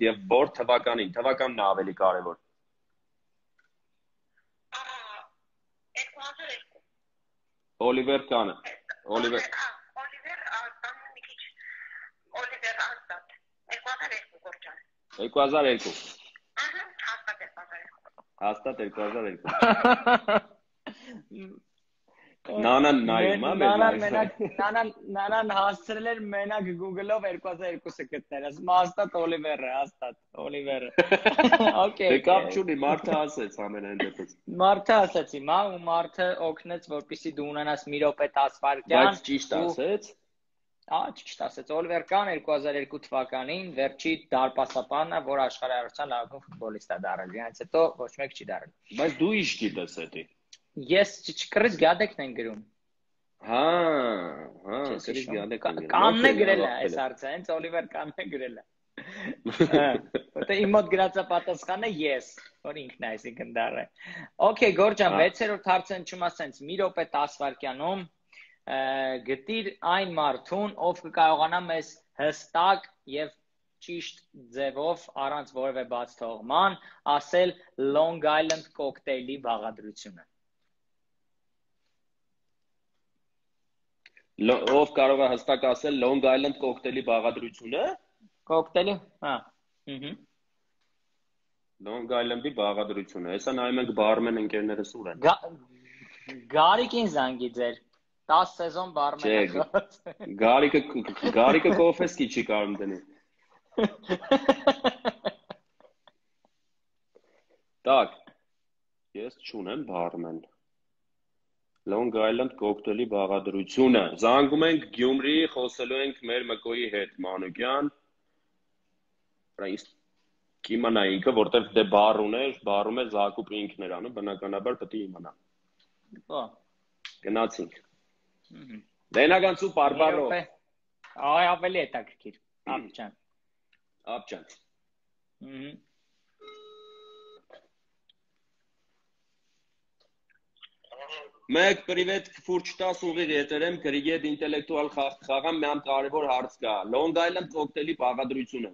եւ որ թվականին, թվականն է ավելի կարևոր։ 2002։ Օլիվեր Կանը, Օլիվեր Աստատ 2002 գործան 2002 Հաստատ 2002 Նանան նայում է Նանան հասցրել էր մենակ Google-ով 2002-ը գտնել, ասում հաստատ Օլիվերը, հաստատ Օլիվերը։ Okay։ Դե կապ չունի, մարդը ասեց ամենայն դեպս։ Մարդը ասեց հիմա ու մարդը օգնեց, որպեսզի դու ունենաս մի րոպե 10 վայրկյան։ Բայց ճիշտ ասեց։ Ճիշտ ասեց, Օլիվեր Կան 2002 թվականին վերջի դարպասապանը, որ աշխարհայության լավագույն ֆուտբոլիստ է դարձել։ Դրանից հետո ոչ մեկ չի դարձել։ Բայց դու ինչ գիտես էդի։ Ես չկրից գադեկն են գրում։ Հա, կրից գադեկն են գրում։ Կանն է գրել է այս հարցը, հենց Օլիվեր Կանն է գրել է։ Որտե իմ մոտ գրածա պատասխանը ես, որ ինքն է այսինքն դառը։ Okay, Գորջան, 6-րդ հարցը ընչում ասենց մի րոպե 10 վայրկյանում գտիր այն մարդուն, ով կկարողանա մեզ հստակ եւ ճիշտ ձևով առանց որևէ բաց թողման ասել Long Island կոկտեյլի բաղադրությունը։ Ով կարող է հստակ ասել Long Island կոկտեյլի բաղադրությունը։ Կոկտեյլի, հա։ Long Island-ի բաղադրությունը։ Հեսա նայում ենք բարմեն ընկերներս ուր են։ Գարիկին զանգի ձեր 10 սեզոն բարմեն։ Գարիկը կոֆեսկի չի կարող դնի։ Так, ես չունեմ բարմեն։ Long Island կոկտեյլի բաղադրությունը։ Զանգում ենք Գյումրի, խոսելու ենք մեր Մկոյի հետ, Մանուկյան։ Կիմանա ինքը, որտեվ դե բար ուներ, բարում էր Զակուպը ինքն էր անում, բնականաբար պետք է իմանա։ Գնացինք։ Դենագանցու բարբարո։ Այ ավելի հետաքրքիր։ Աբջան։ Մեկ պրիվետ ֆուրջ 10 ուղիղ եթերեմ գրիգի հետ ինտելեկտուալ խաղամ մի համ կարևոր հարց կա։ Long Island կոկտեյլի բաղադրությունը։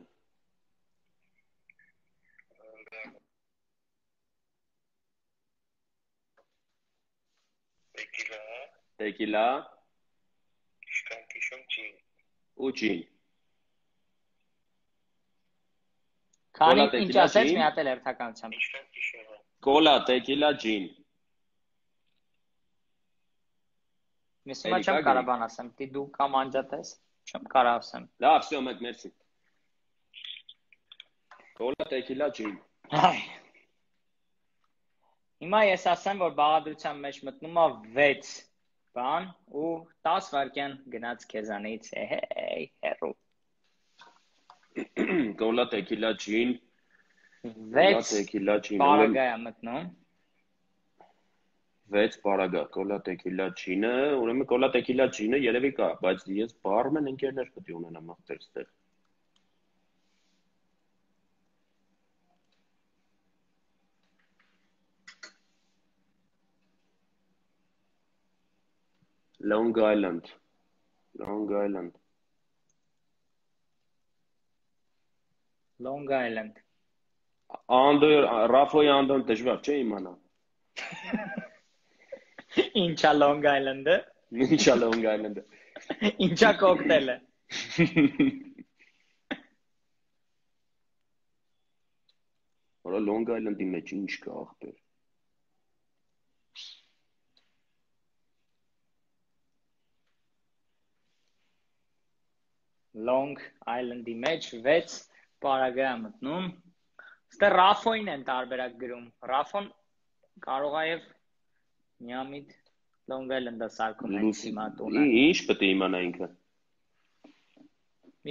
Տեկիլա։ Ջին։ Ու ջին։ Քանի ինչ ասեց մի հատ էլ երթականությամբ։ Կոլա, տեկիլա, ջին։ Միսումա չեմ կարող բան ասեմ, դու կամ անջատես, չեմ կարող ասեմ։ Լավ, всё, մեկ, մերսի։ Կոլա, տեկիլա, ջին։ Հիմա ես ասեմ, որ բաղադրության մեջ մտնում է 6 բան ու 10 վայրկյան գնաց քեզանից, հեյ, հերո։ Կոլա, տեկիլա, ջին։ 6 տեկիլա, ջին։ պարագա է մտնում։ 6 պարագա, կոլա, տեկիլա, ջինը, ուրեմն կոլա, տեկիլա, ջինը երևի կա, բայց ես բարմեն ընկերներ պետք է ունենամ այստեղ։ Long Island։ Ռաֆոյի անդոն դժվար չէ իմանա։ Ինչա Long Island-ը։ Ինչա Long Island-ը։ Ինչա կոկտեյլը։ Որա Long Island-ի մեջ ինչ կա ախպեր։ Long Island-ի մեջ 6 պարագա է մտնում։ Ստե Ռաֆոին են տարբերակ գրում։ Ռաֆոն կարող է եւ միամիտ Long Island-ը սարքում են հիմա տունը։ Ինչ պետք է իմանա ինքը։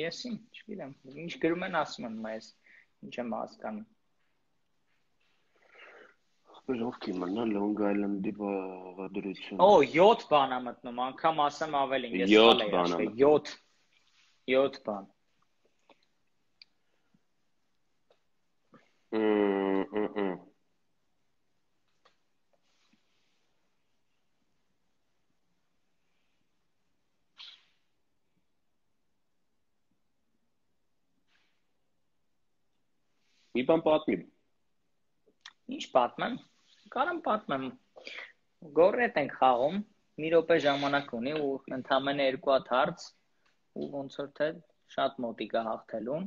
Եսին, չգիտեմ, ինչ գրում են ասում են մեզ, ինչ եմ հասկանում։ Ախպեր ով կիմանա Long Island-ի բաղադրությունը։ Օ, 7 բան է մտնում, անգամ ասեմ ավելին, ես սխալ եմ ասել, 7 բան։ Մի բան պատմի։ Ինչ պատմեմ։ Կարամ պատմեմ։ Գորրետ ենք խաղում, մի րոպե ժամանակ ունի ու ընդամենը 2 հատ հարց ու ոնց որ թե շատ մոտիկ է հաղթելուն։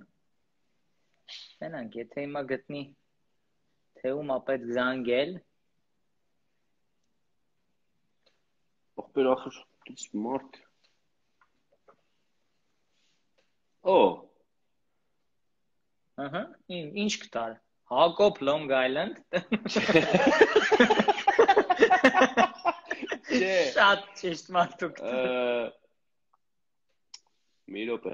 Տենանք, եթե հիմա գտնի թե ում է պետք զանգել։ Ախպեր ախր, դից մարդ։ Օ։ Ահա, ինչ կտար։ Հակոբ Long Island։ Չէ։ Շատ ճիշտ մարդուկ։ Մի րոպե։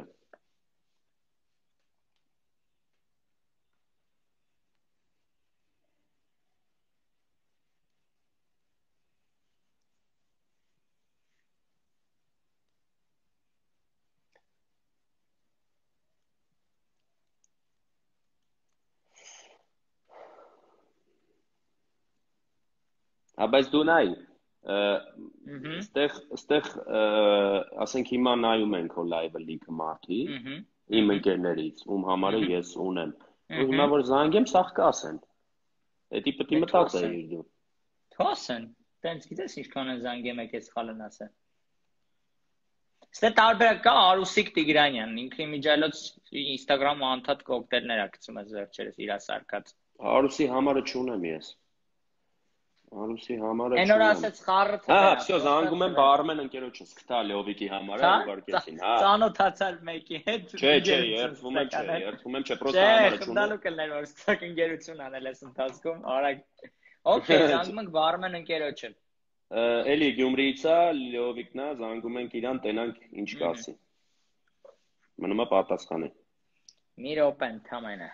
Բայց դու նայ, ստեղ ասենք հիմա նայում ենք հո լայվը լիքը մարդի, իմ ընկերներից, ում համարը ես ունեմ, ու հիմա որ զանգեմ, սաղ կասեն, էդի պտի մտածեիր դու։ Թոսեն, տենց գիտես ինչքան են զանգեմ եք ես խալն ասը։ Ստե տարբերակ կա Արուսիկ Տիգրանյան, ինքը իմիջայլոց Instagram-ը անդադ կոկտեյլներ ա գցում ես վերջերս իրա սարկած։ Արուսի համարը չունեմ ես։ Արուսի համարը չունեմ։ Այն օր ասեց խառը թե։ Հա, всё, զանգում եմ բարմեն ընկերոջս, գտա Լեովիկի համարը, ուղարկեցին, հա։ Ծանոթացալ մեկի հետ։ Չէ, երթվում եմ, չէ, պրոստը համարը չունեմ։ Դալու կլներ որ ստակ ընկերություն անել ես ընթացքում, արագ։ Okay, զանգում ենք բարմեն ընկերոջը։ Էլի Գյումրիից է, Լեովիկն է, զանգում ենք իրան, տենանք ինչ կասի։ Մնում է պատասխանի։ Մի րոպե ընդամենը։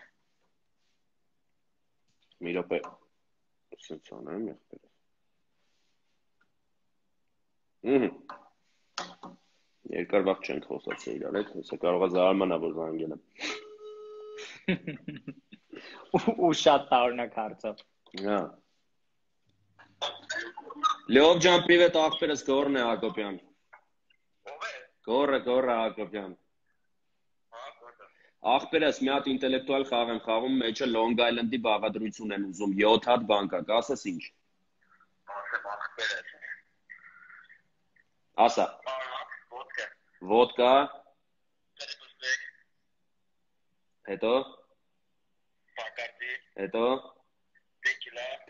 Մի րոպե։ Սենց անեմ եղբերս։ Երկար վաղ չենք խոսացել իրար հետ, հեսա կարող է զարմանա, որ զանգել եմ։ Ու շատ տարօրինակ հարցով։ Հա։ Լեով ջան, պրիվետ, աղբերս Գոռն է Հակոբյան։ Ո՞վ է։ Գոռը Հակոբյան։ Աղբերս մի հատ ինտելեկտուալ խաղ եմ խաղում, մեջը Long Island-ի բաղադրություն են ուզում, 7 հատ բան կա, կասես ինչ։ Ասեմ աղբերս։ Ասա։ Ոդկա։ Ոդկա։ Տերպստեկ։ Հետո։ Բակարդի։ Հետո։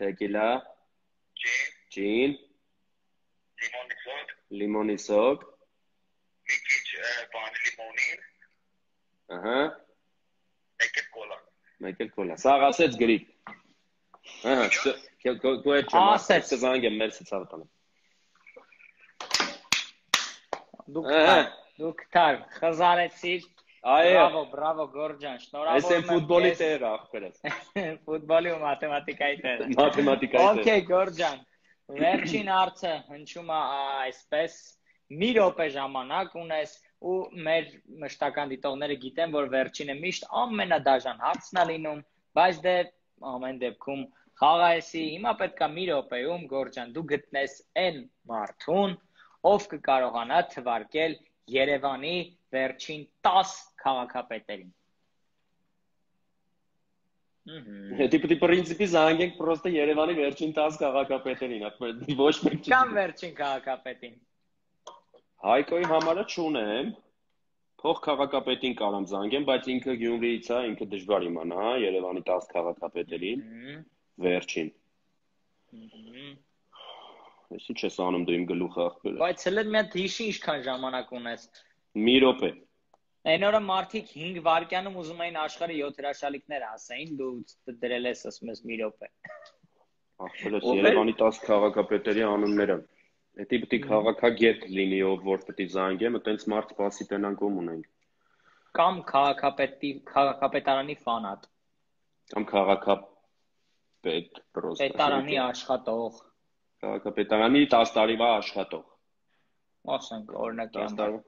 Տեկիլա։ Ջին։ Լիմոնի սոկ։ Մի քիչ բանի լիմոնին։ Ահա։ Մեկ էլ կոլա։ Սաղ ասեց գրիկ։ Ահա, քո հետ չեմ ասեց զանգեմ մերսից ավտանը։ Դուք թար խզարեցիր։ Այո, Բրավո Գորջան, շնորհավոր ես եմ ֆուտբոլի տեր ախպերս։ Ֆուտբոլի ու մաթեմատիկայի տերը։ Մաթեմատիկայի տեր։ Okay, Գորջան։ Վերջին հարցը հնչում է այսպես. մի րոպե ժամանակ ունես ու մեր մշտական դիտողները գիտեն, որ վերջինը միշտ ամենադաժան հարցն է լինում, բայց դե ամեն դեպքում խաղայեսի, հիմա պետքա մի րոպեում Գորջան դու գտնես այն մարդուն, ով կկարողանա թվարկել Երևանի վերջին 10 քաղաքապետերին։ Հետի պետք է պրինցիպի զանգենք պրոստը Երևանի վերջին 10 քաղաքապետերին, ոչ մեկ չի։ Կամ վերջին քաղաքապետին։ Հայկոյի համարը չունեմ, փող քաղաքապետին կարամ զանգեմ, բայց ինքը Գյումրիից է, ինքը դժվար իմանա, հա, Երևանի 10 քաղաքապետերին, վերջին։ Ես ինչ ես անում դու իմ գլուխը ախպերը։ Բայց հələ մի հատ հիշի ինչքան ժամանակ ունես։ Մի րոպե։ Այն օրը մարդիկ 5 վայրկյանում ուզում էին աշխարհի 7 հրաշալիքներ ասեին, դու դրել ես ասում ես մի րոպե։ Ախպերս Երևանի 10 քաղաքապետերի անունները։ Հետի պետք է քաղաքագետ լինի, ով որ պետք է զանգեմ, այտենց մարդ սպասի տենանք ում ունենք։ Կամ քաղաքապետարանի ֆանատ։ Կամ քաղաքապետ պրոստը։ Պետարանի աշխատող։ Քաղաքապետարանի 10 տարվա աշխատող։ Ասենք օրինակի 10 տարվա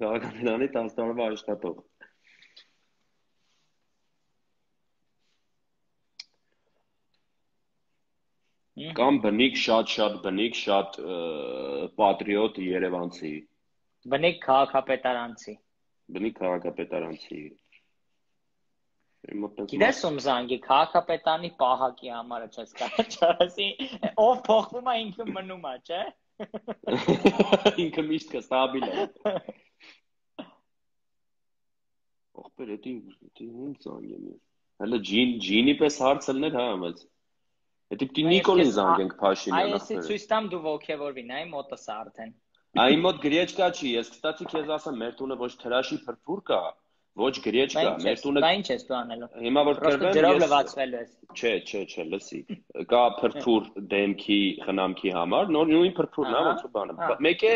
քաղաքապետարանի 10 տարվա աշխատող։ Կամ բնիկ շատ բնիկ շատ պատրիոտ երևանցի։ Բնիկ քաղաքապետարանցի։ Բնիկ քաղաքապետարանցի։ Գիտես ում զանգի քաղաքապետանի պահակի համարը չես կարողացի, ով փոխվում է ինքը մնում է, չէ՞։ Ինքը միշտ կստաբիլ է։ Ախպեր, էդի ում զանգեմ ես։ Հələ ջինի պես հարց լներ, հա, բայց։ Էդի պիտի Նիկոլին զանգենք Փաշինյան ախպեր։ Այսի ցույց տամ դու ոգևորվի, նայ մոտս արդեն։ Այն մոտ գրեչկա չի, ես կստացի քեզ ասեմ, մեր տունը ոչ թրաշի փրփուր կա, ոչ գրեչկա, մեր տունը։ Դա ինչ ես դու անելու։ Հիմա որ կրվեմ, ջրով լվացվելու ես։ Չէ, լսի։ Կա փրփուր դեմքի խնամքի համար, նույն փրփուրն է, ոնց որ բանը։ Մեկ է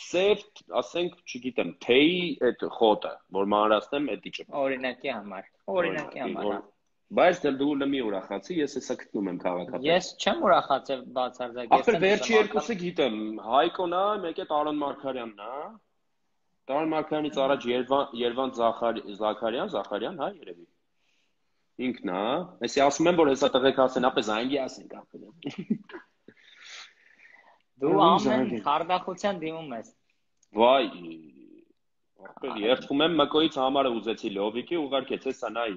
սև, ասենք, չգիտեմ, թեյի այդ խոտը, որ մանրացնեմ, էդի չպ։ Օրինակի համար։ Բայց դու լմի ուրախացի, ես հեսա գտնում եմ քաղաքապետ։ Ես չեմ ուրախացել բացարձակ։ Ախր վերջի երկուսը գիտեմ, Հայկոն է, մեկ է Տարոն Մարգարյանն է։ Տարոն Մարգարյանից առաջ Երվանդ Զաքարյան, հա, երևի։ Ինքն է, այսի ասում եմ, որ հեսա տղեկ ասեն, ապե զանգի ասենք ախպերը։ Դու ամեն խարդախության դիմում ես։ Վայ, ախպեր, երդվում եմ Մկոյից համարը ուզեցի Լովիկի, ուղարկեց, հեսա նայ։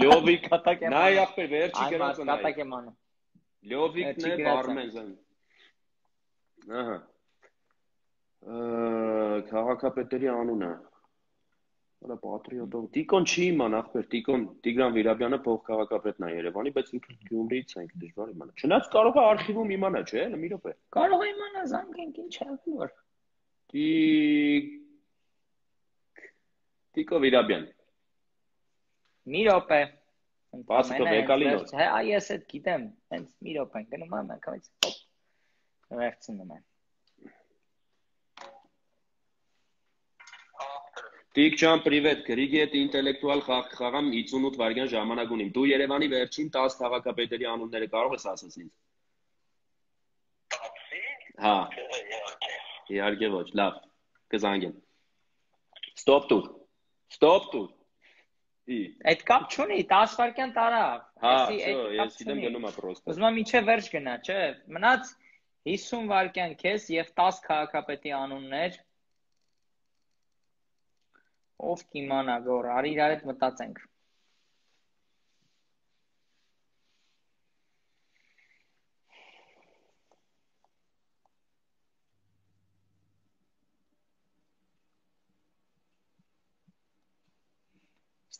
Լյովիկ, նայ ախպեր, վերջի գրածը նայ։ Կատակ եմ անում։ Լյովիկն է Բարմենզան։ Ահա։ Քաղաքապետերի անունը։ Հələ պատրիոտով։ Տիկոն չի իման ախպեր, Տիգրան Վիրաբյանը փող քաղաքապետն է Երևանի, բայց ինքը Գյումրիից է, ինքը դժվար իմանա։ Չնայած կարող է արխիվում իմանա, չէ՞, մի րոպե։ Կարող է իմանա, զանգենք, ինչ է որ։ Տիկո Վիրաբյան։ Մի րոպե։ Պասկո Վեկալինո։ Հա, ես այդ գիտեմ, հենց մի րոպե գնում եմ, ակամից վերցնում եմ։ Տիկ ջան, պրիվետ, գրիգի հետ ինտելեկտուալ խաղամ 58 վայրկյան ժամանակ ունիմ։ Դու Երևանի վերջին 10 քաղաքապետերի անունները կարող ես ասես ինձ։ Հա։ Իհարկե ոչ, լավ։ Կզանգեմ։ Ստոպ տուր։ Այդ կապ չունի, 10 վայրկյան տարավ։ Հա, ես իդեմ գնում եմ պրոստը։ Ուզում եմ միջև վերջ գնա, չէ։ Մնաց 50 վայրկյան քեզ եւ 10 քաղաքապետի անուններ։ Ով կիմանա, գոր, արի իրար հետ մտածենք։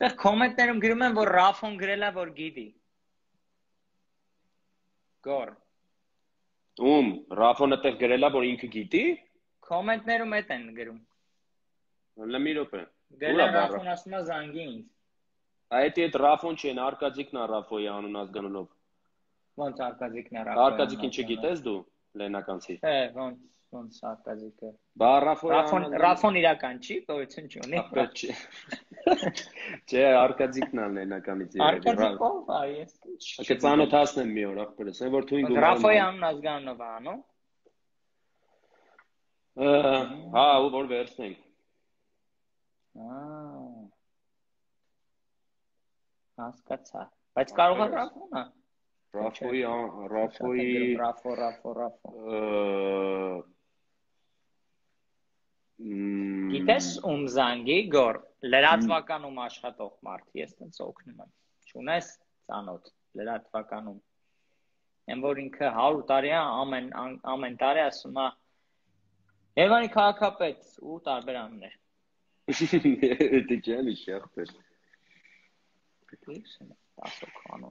Այստեղ կոմենտներում գրում են, որ Ռաֆոն գրել է, որ գիտի։ Գոր։ Ում, Ռաֆոնը տեղ գրել է, որ ինքը գիտի։ Կոմենտներում էդ են գրում։ Լմի րոպե։ Գրել Ռաֆոն ասում է զանգի ինձ։ Այդ Ռաֆոն չեն, Արկադիկն է Ռաֆոյի անուն ազգանունով։ Ոնց Արկադիկն է Ռաֆոյի։ Արկադիկին չգիտես դու, լենականցի։ Հե, ոնց։ ոնց արկածիկը։ Բա Ռաֆոն իրական չի, գոյություն չունի։ Չէ, արկածիկն անենականից իրական։ Արկածիկով, ես։ Կծանոթացնեմ մի օր, ախպերս, այն որ թույն գումարում։ Ռաֆոյի անուն ազգանունով անո։ Հա, ու որ վերցնենք։ Հասկացա։ Բայց կարող է Ռաֆոնը։ Ռաֆո։ Գիտես ում զանգի գոր լրատվականում աշխատող մարդ, ես տենց օգնում եմ։ Չունես ծանոթ լրատվականում։ Այն որ ինքը 100 տարի է ամեն տարի ասում է Երևանի քաղաքապետ ու տարբեր անուններ։ Դա ջանի շախտեր։ Դիքսն ասոքանո։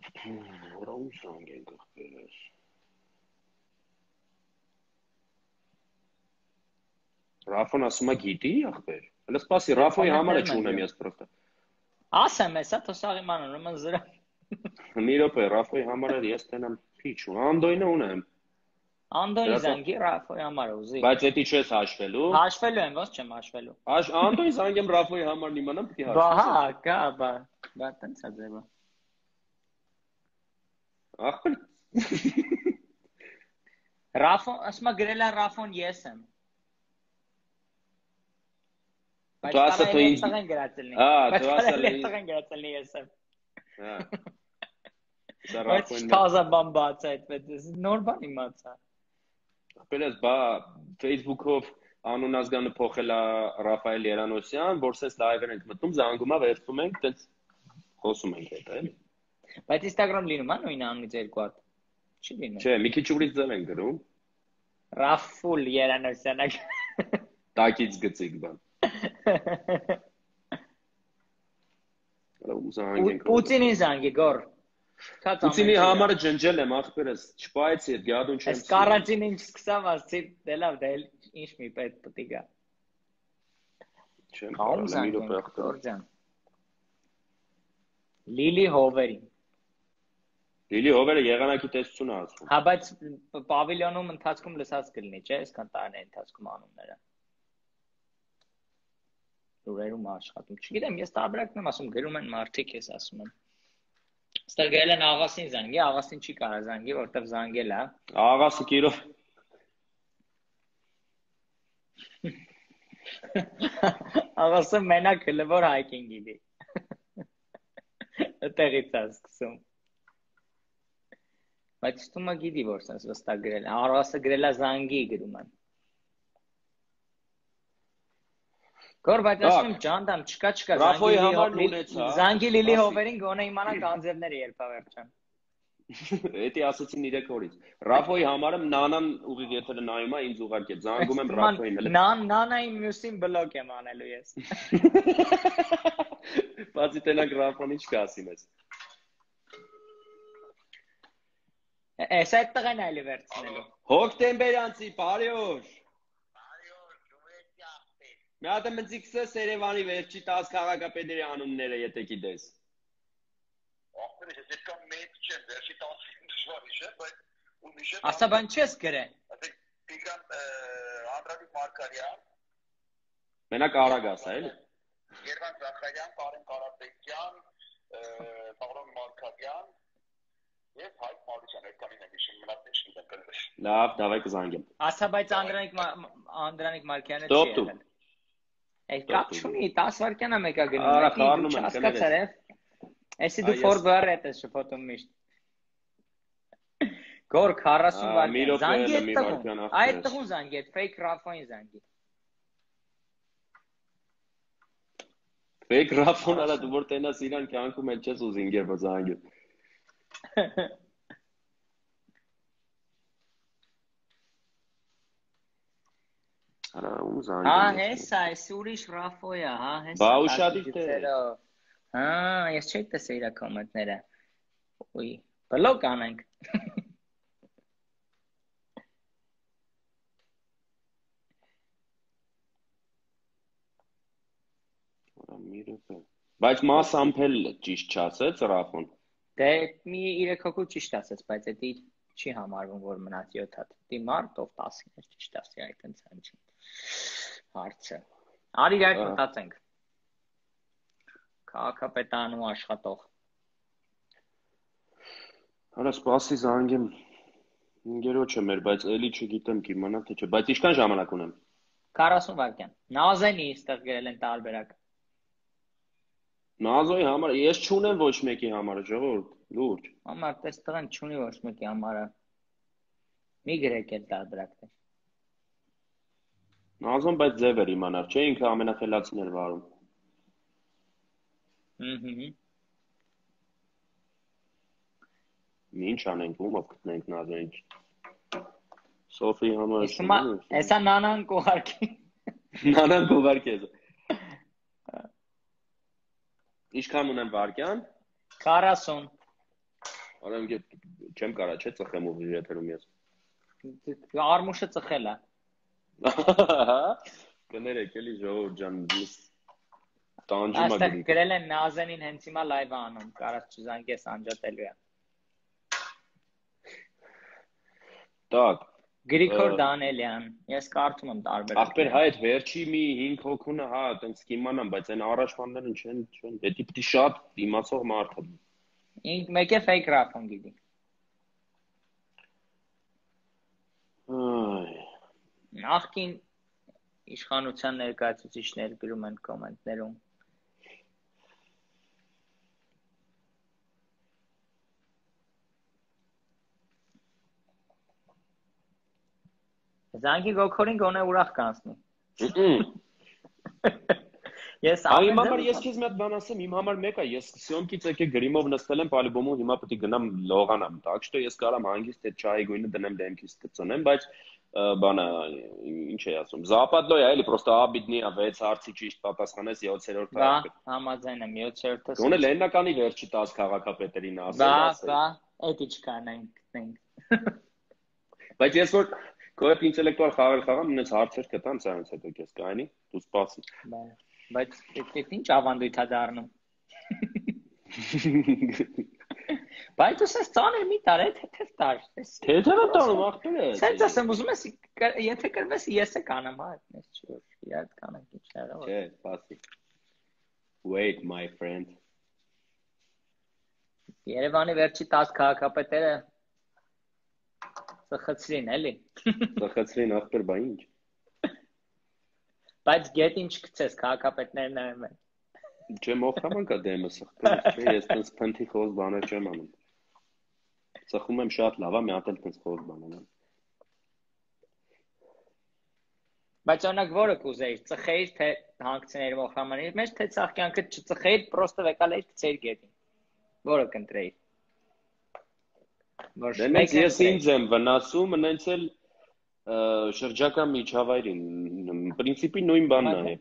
Որը ում զանգենք ախպերս։ Ռաֆոն ասում է գիտի ախպեր։ Հələ սպասի Ռաֆոյի համարը չունեմ ես պրոստը։ Ասեմ էսա թոսաղի մանուն ուրեմն զրա։ Մի րոպե Ռաֆոյի համարը ես տենամ քիչ ու Անդոյնը ունեմ։ Անդոյի զանգի Ռաֆոյի համարը ուզի։ Բայց էդի չես հաշվելու։ Հաշվելու եմ, ո՞նց չեմ հաշվելու։ Անդոյի զանգեմ Ռաֆոյի համարն իմանամ պիտի հաշվեմ։ Բա հա, կա, բա տենց է ձևը։ Ախպեր։ Ռաֆոն, ասում է գրել է Ռաֆոն ես եմ։ Բայց կարա տղեն գրածելնի։ Բայց կարա տղեն գրածելնի ես եմ։ Հա։ Բայց թազա բան բաց է այդպես, նոր բան իմացա։ Ախպերս, բա Facebook-ով անուն ազգանը փոխել է Ռաֆայել Երանոսյան, որ սենց լայվեր ենք մտնում, զանգում է, վերցնում ենք, տենց խոսում ենք հետ, էլի։ Բայց Instagram լինում է նույն անունից երկու հատ։ Չի լինում։ Չէ, մի քիչ ուրիշ ձև են գրում։ Ռաֆուլ Երանոսյանը։ Տակից գծիկ բան։ Պուտինի զանգի գոր։ Պուտինի համարը ջնջել եմ ախպերս, չպայեցի այդ գադուն չեմ։ Այս կարանտինը ինչ սկսավ ասի, դե լավ, դե ինչ մի պետք պիտի գա։ Չեմ կարող մի րոպե ախպեր։ Լիլի Հովերին։ Լիլի Հովերը եղանակի տեսություն է ասում։ Հա, բայց պավիլյոնում ընթացքում լսած կլինի, չէ՞, այսքան տարիների ընթացքում անունները։ Լուրերում աշխատում։ Չգիտեմ, ես տարբերակն եմ ասում, գրում են մարդիկ, ես ասում եմ։ Ստեղ գրել են աղասին զանգի, աղասին չի կարա զանգի, որտեվ զանգել է։ Աղասը կիրով։ Աղասը մենակ հլվոր հայքին գիտի։ Տեղից է սկսում։ Բայց ստումը գիտի, որ սենց վստակ գրել է։ Աղասը գրել է զանգի գրում են։ Գոր, բայց ասում ջանդամ, չկա, զանգի Լիլի Հովերին գոնե իմանանք անձերները երբ ավերջան։ Էդի ասացին 3 օրից։ Ռաֆոյի համարը նանան ուղիղ եթերը նայում է ինձ ուղարկել, զանգում եմ Ռաֆոյին։ Նանային մյուսին բլոկ եմ անելու ես։ Բացի տենակ Ռաֆոն ինչ կասի մեզ։ Էս այդ տղեն այլի վերցնելու։ Հոկտեմբերանցի, բարի օր։ Մի հատ եմ ընձիքսես Երևանի վերջի 10 քաղաքապետերի անունները, եթե գիտես։ Ախպեր, ես ետքան մեկ չեմ, վերջի 10 դժվար իշե, բայց ու միշտ Ասա բան չես գրել։ Տիգրան Անդրանիկ Մարկարյան։ Մենակ Արագաս է, էլի։ Երվան Զախարյան, Կարեն Կարապետյան, Պավլոն Մարկարյան եւ Հայկ Մարության, այդքանին եմ հիշում, մնաց ինչ գիտեմ կլվես։ Լավ, դավայ կզանգեմ։ Ասա, բայց Անդրանիկ Մարկարյանը չի եղել։ Այդ կապ չունի, 10 վայրկյան է մեկա գնում, մեկի չհասկացար է։ Էսի դու ֆորվարդ ես շփոթում միշտ։ Գոր 40 վայրկյան, զանգի այդ տղուն, այդ տղուն զանգի, այդ fake Ռաֆոին զանգի։ Fake Ռաֆոն արա դու որ տենաս իրան կյանքում էլ չես ուզին գեր որ զանգի։ Արա ում զանգի։ Հա, հեսա, էս ուրիշ Ռաֆոյա, հա, հեսա։ Բա ուշադիր թե։ Հա, ես չէի տեսել իր կոմենտները։ Ուй, բլոկ անենք։ Բայց մաս ամփել ճիշտ չասեց Ռաֆոն։ Դե մի 3 հոգու ճիշտ ասեց, բայց էդի չի համարվում, որ մնաց 7 հատ։ Դի մարդ ով 10-ին էր, ճիշտ ասի, այդտենց հնչի։ Հարցը։ Արի այդ մտածենք։ Քաղաքապետարանում աշխատող։ Արա սպասի զանգեմ։ Ինգերոջը մեր, բայց էլի չգիտեմ կիմանա թե չէ, բայց ինչքան ժամանակ ունեմ։ 40 վայրկյան։ Նազենի այստեղ գրել են տարբերակ։ Նազոյի համար ես չունեմ ոչ մեկի համար, ժողովուրդ, լուրջ։ Համար այստեղ են չունի ոչ մեկի համար։ Մի գրեք այդ տարբերակներ։ Նազոն բայց ձև էր իմանար, չէ, ինքը ամենախելացին էր վարում։ Ինչ անենք, ումով գտնենք Նազոյին։ Սոֆի համար։ Էսա նանան կողարկի։ Նանան կողարկի է։ Ինչքան ունեմ վարկյան։ 40։ Արեմ չեմ կարա, չէ, ծխեմ ու եթերում ես։ Արմուշը ծխել է։ Կներեք էլի ժողովուրդ ջան, տանջում ա Այստեղ գրել են Նազենին հենց հիմա լայվ անում, կարած չզանգես անջատելու է։ Так Գրիգոր Դանելյան, ես կարդում եմ տարբերակ։ Ախպեր հայ այդ վերջի մի 5 հոգունը հա, այտենց կիմանամ, բայց այն առաջվաններն չեն, դա պիտի շատ իմացող մարդ է։ Մեկ է fake rap-ն գիտի։ Նախքին իշխանության ներկայացուցիչներ գրում են կոմենտներում։ Զանգի գոքորին գոնե ուրախ կանցնի։ Ես Այ համար ես քեզ մի հատ բան ասեմ, իմ համար մեկը ես սյոմքից եկե գրիմով նստել եմ պալիբոմում, հիմա պետք է գնամ լողանամ, так что ես կարամ հանգիստ այդ չայի գույնը դնեմ դեմքից կծնեմ, բայց բանը ինչ է ասում, Западлոյ է, էլի պրոստո աբիդնի է 6 հարցի ճիշտ պատասխանես 7-րդ հարցը։ Բա, համաձայն եմ 7-րդը։ Գոնե լեննականի վերջի 10 քաղաքապետերին ասել։ Բա, էդ ինչքան են գտնենք։ Բայց ես որ կոեփ ինտելեկտուալ խաղամ, ինձ հարցեր կտամ, սրանից հետո քեզ կայանի, դու սպասի։ Բայց այդ ինչ ավանդույթ է դառնում։ Բայց դու սենց ծանր մի տար է, թեթև տար։ Թեթև տանում ախպեր է։ Սենց ասեմ, ուզում ես, եթե կրվես, ես է կանեմ, հա, այդպես չի, որ իրար կանենք ինչ հեռավոր։ Չէ, սպասի։ Wait, my friend։ Երևանի վերջի 10 քաղաքապետերը ծխեցրին, էլի։ Ծխեցրին ախպեր, բա ինչ։ Բայց գետին չգցես, քաղաքապետներն նայում են։ Չէ, մոխրաման կա դեմը սխտել, չէ, ես տենց փնթի խոզ բաներ չեմ անում։ Ծխում եմ շատ լավ, մի հատ էլ տենց խոզ բան անեմ։ Բայց օրինակ որը կուզեիր, ծխեիր թե հանգցնեիր մոխրամանի մեջ, թե ցաղկյանքը չծխեիր, պրոստը վեկալեիր գցեիր գետին։ Որը կընտրեիր։ Դեմից ես ինձ եմ վնասում, նենց էլ շրջակա միջավայրին, պրինցիպի նույն բանն է։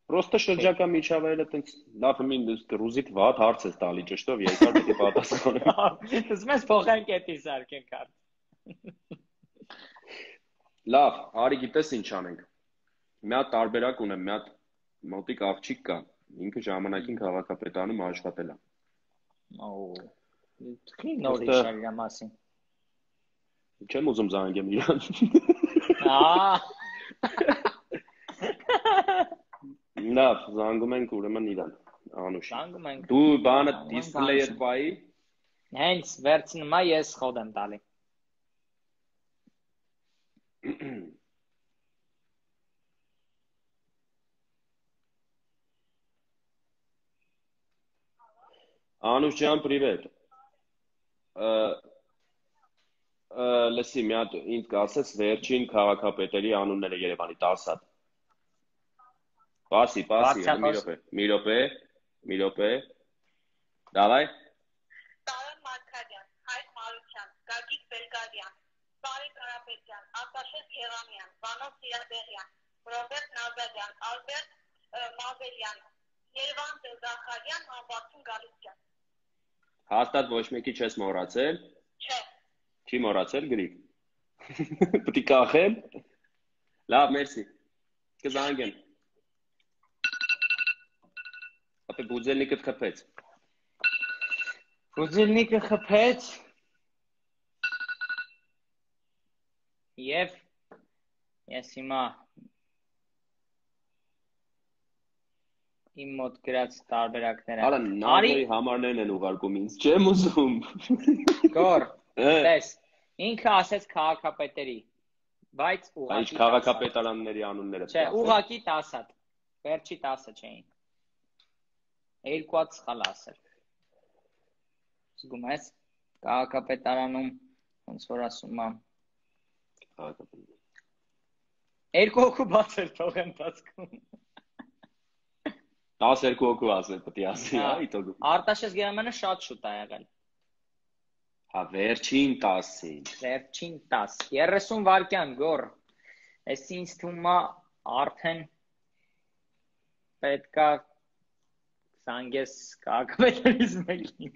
Պրոստը շրջակա միջավայրը տենց լավ մին ռուզիտ վատ հարց է տալի ճշտով երկար պետք է պատասխանեմ։ Ուզում ես փոխենք էդի սարքենք հարց։ Լավ, արի գիտես ինչ անենք։ Մի հատ տարբերակ ունեմ, մի հատ մոտիկ աղջիկ կա, ինքը ժամանակին քաղաքապետարանում աշխատել է։ Քի նորից էր իր մասին։ Չեմ ուզում զանգեմ իրան։ Լավ, զանգում ենք ուրեմն իրան, Անուշ։ Զանգում ենք։ Դու բանը դիսպլեյը բայի։ Հենց վերցնում եմ, ես խոդ եմ տալի։ Անուշ ջան, привет։ Լսի, մի հատ ինձ կասես վերջին քաղաքապետերի անունները Երևանի 10 հատ։ Պասի, մի րոպե։ Դավայ։ Տարոն Մարկարյան, Հայկ Մարության, Գագիկ Բելգարյան, Բարի Կարապետյան, Արտաշես Եղամյան, Վանո Սիրադեղյան, Ռոբերտ Նազարյան, Ալբերտ Մազելյան, Երևան Զախարյան, Անվարդուն Գալստյան։ Հաստատ ոչ մեկի չես մոռացել։ Չէ։ Չի մոռացել գրիկ։ Պետք է կախեմ։ Լավ, մերսի։ Կզանգեմ։ Ապե բուձելնիկդ խփեց։ Գուզիլնիկը խփեց եւ ես հիմա իմ մոտ գրած տարբերակները Արա նավոյի համարներն են ուղարկում ինձ, չեմ ուզում։ Գոր, տես, ինքը ասեց քաղաքապետերի, բայց ուղղակի Այս քաղաքապետարանների անունները։ Չէ, ուղղակի 10 հատ, վերջի 10-ը չէին։ Երկու հատ սխալ ասել։ Զգում ես, քաղաքապետարանում ոնց որ ասում եմ։ Երկու հոգու բաց էր թող ընթացքում։ 12 հոգու ասել պետք է ասի, հա, իտոգու։ Արտաշես Գերամանը շատ շուտ է եղել։ Հա, վերջին 10-ին։ Վերջին 10, 30 վայրկյան գոր։ Էս ինձ թվում է արդեն պետքա զանգես քաղաքապետերից մեկին։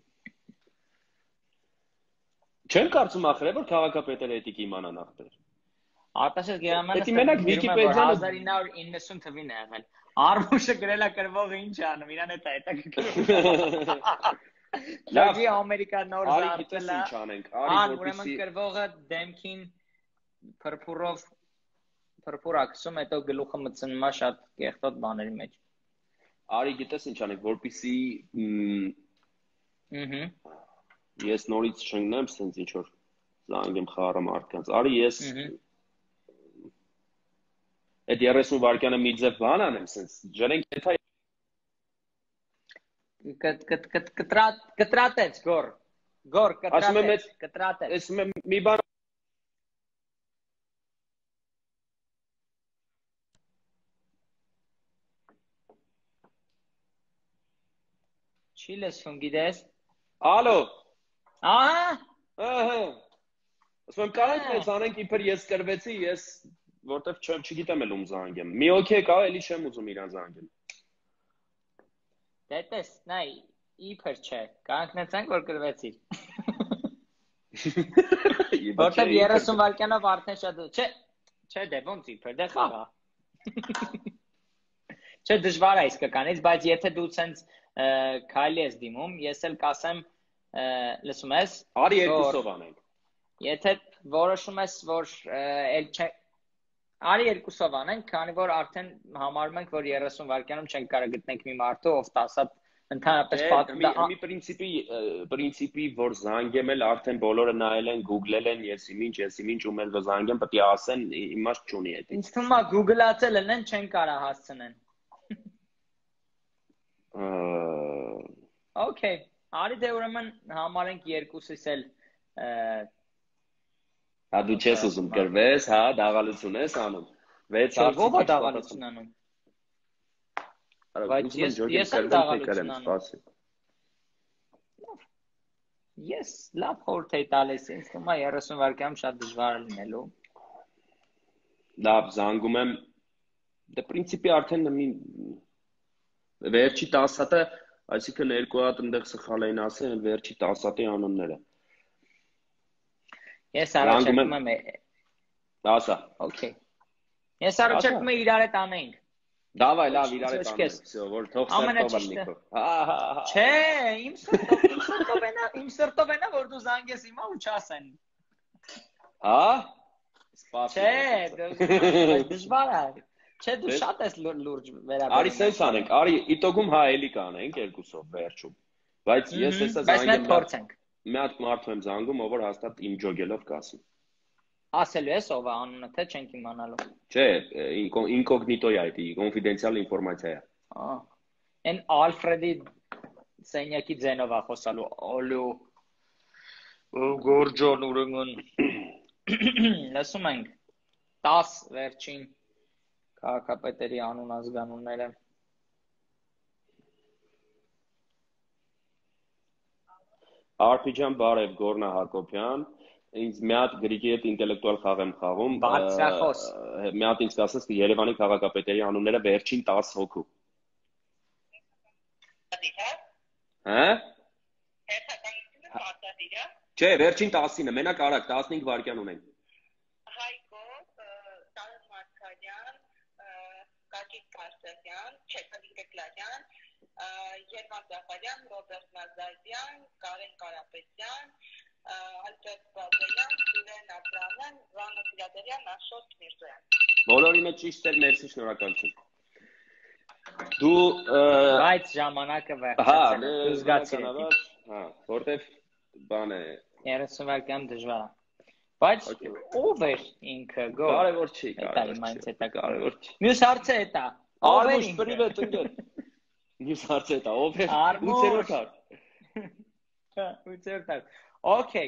Չեմ կարծում ախր որ քաղաքապետերը էդիկ իմանան ախտեր։ Արտաշես Գերամանը Պետք է մենակ Վիկիպեդիան 1990 թվին է եղել։ Արմուշը գրելա կրվողը ինչ անում, իրան է հետաքրքրում։ Լավի Ամերիկա նոր զարթել է։ Ուրեմն կրվողը դեմքին փրփուր ակսում, հետո գլուխը մտցնում է շատ կեղտոտ բաների մեջ։ Արի գիտես ինչ անենք, որպեսի Ահա ես նորից չընկնեմ, սենց ինչ որ զանգեմ խառը մարդկանց։ Արի ես Այդ 30 վայրկյանը մի ձև բան անեմ, սենց ջրենք եթե կտրատեց գոր կտրատեց Ես մի բան Չի լսվում գիտես Ալո Ահա Ասում եմ կարանք մեզ անենք իբր ես կրվեցի, ես որտեվ չգիտեմ էլ ում զանգեմ։ Մի օքեյ կա, էլի չեմ ուզում իրան զանգեմ։ Դե տես, նայ, իբր չէ, կանգնեցանք որ կրվեցիր։ Որտեվ 30 վայրկյանով արդեն շատ չէ, դե ոնց իբր, դե խաղա։ Չէ, դժվար է իսկականից, բայց եթե դու ցենց քայլի ես դիմում, ես էլ կասեմ, լսում ես։ Արի երկուսով անենք։ Եթե որոշում ես, որ էլ չէ Արի երկուսով անենք, քանի որ արդեն համարում ենք, որ 30 վայրկյանում չենք կարող գտնենք մի մարդու, ով 10 հատ ընդհանրապես պատմում մի պրինցիպի, որ զանգեմ էլ արդեն բոլորը նայել են, Google-ել են, ես ինչ ում էլ զանգեմ, պետք է ասեն, իմաստ չունի էդ։ Ինձ թվում է Google-ացել են, չեն կարող հասցնեն։ Okay, արի դե ուրեմն համարենք երկուսից էլ Հա դու չես ուզում կրվես, հա, դաղալություն ես անում։ 6 հարցի ով է դաղալություն անում։ Բայց ես եմ դաղալություն անում։ Ես լավ խորհուրդ էի տալիս, ինձ թվում է 30 վայրկյանում շատ դժվար է լինելու։ Լավ, զանգում եմ։ Դե պրինցիպի արդեն վերջի 10 հատը, այսինքն երկու հատ այնտեղ սխալ էին ասել, վերջի 10 հատի անունները։ Ես առաջարկում եմ Ասա։ Okay։ Ես առաջարկում եմ իրար հետ անենք։ Դավայ, լավ, իրար հետ անենք, всё, որ թող սերտով լինի։ Չէ, իմ սրտով ենա, որ դու զանգես հիմա ու չասեն։ Հա? Չէ, դժվար է։ Չէ, դու շատ ես լուրջ վերաբերվում։ Արի սենց անենք, արի իտոգում հա էլի կանենք երկուսով վերջում։ Բայց ես հեսա Բայց մենք փորձենք։ Մի հատ մարդու եմ զանգում, ով որ հաստատ իմ ջոգելով կասի։ Ասելու ես ով է անունը, թե չենք իմանալու։ Չէ, ինկոգնիտո է այդ, կոնֆիդենցիալ ինֆորմացիա է։ Այն Ալֆրեդի սենյակի ձենով է խոսալու։ Ալո։ Գորջոն ուրեմն։ Լսում ենք 10 վերջին քաղաքապետերի անուն ազգանունները։ Արփիջան բարև Գորնա Հակոբյան, ինձ մի հատ գրիգի հետ ինտելեկտուալ խաղ եմ խաղում։ Բարձրախոս։ Մի հատ ինձ կասես Երևանի քաղաքապետերի անունները վերջին 10 հոգու։ Հա? Չէ, վերջին 10-ինը, մենակ արագ 15 վայրկյան ունենք։ Հայկո, Տարան Մարկարյան, Գագիկ Կարսեղյան, Չեքալի Դեկլարյան, Երման Ձախարյան, Ռոբերտ Նազարյան, Կարեն Կարապետյան, Ալբերտ Բազարյան, Սուրեն Աբրամյան, Վանո Ֆիլադելյան, Աշոտ Միրզոյան։ Բոլորի մեջ ճիշտ էր, մերսի, շնորհակալություն։ Դու Բայց ժամանակը վերջացել է, դու զգացիր եք։ Հա, որտեվ բան է 30 վայրկյան դժվար է։ Բայց ով էր ինքը գո։ Կարևոր չի, կարևոր չի։ Մյուս հարցը է դա։ Արմուշ պրիվետ ընկեր։ Մյուս հարցը է դա, ով էր 8-րդ հարց։ 8-րդ հարց։ Okay,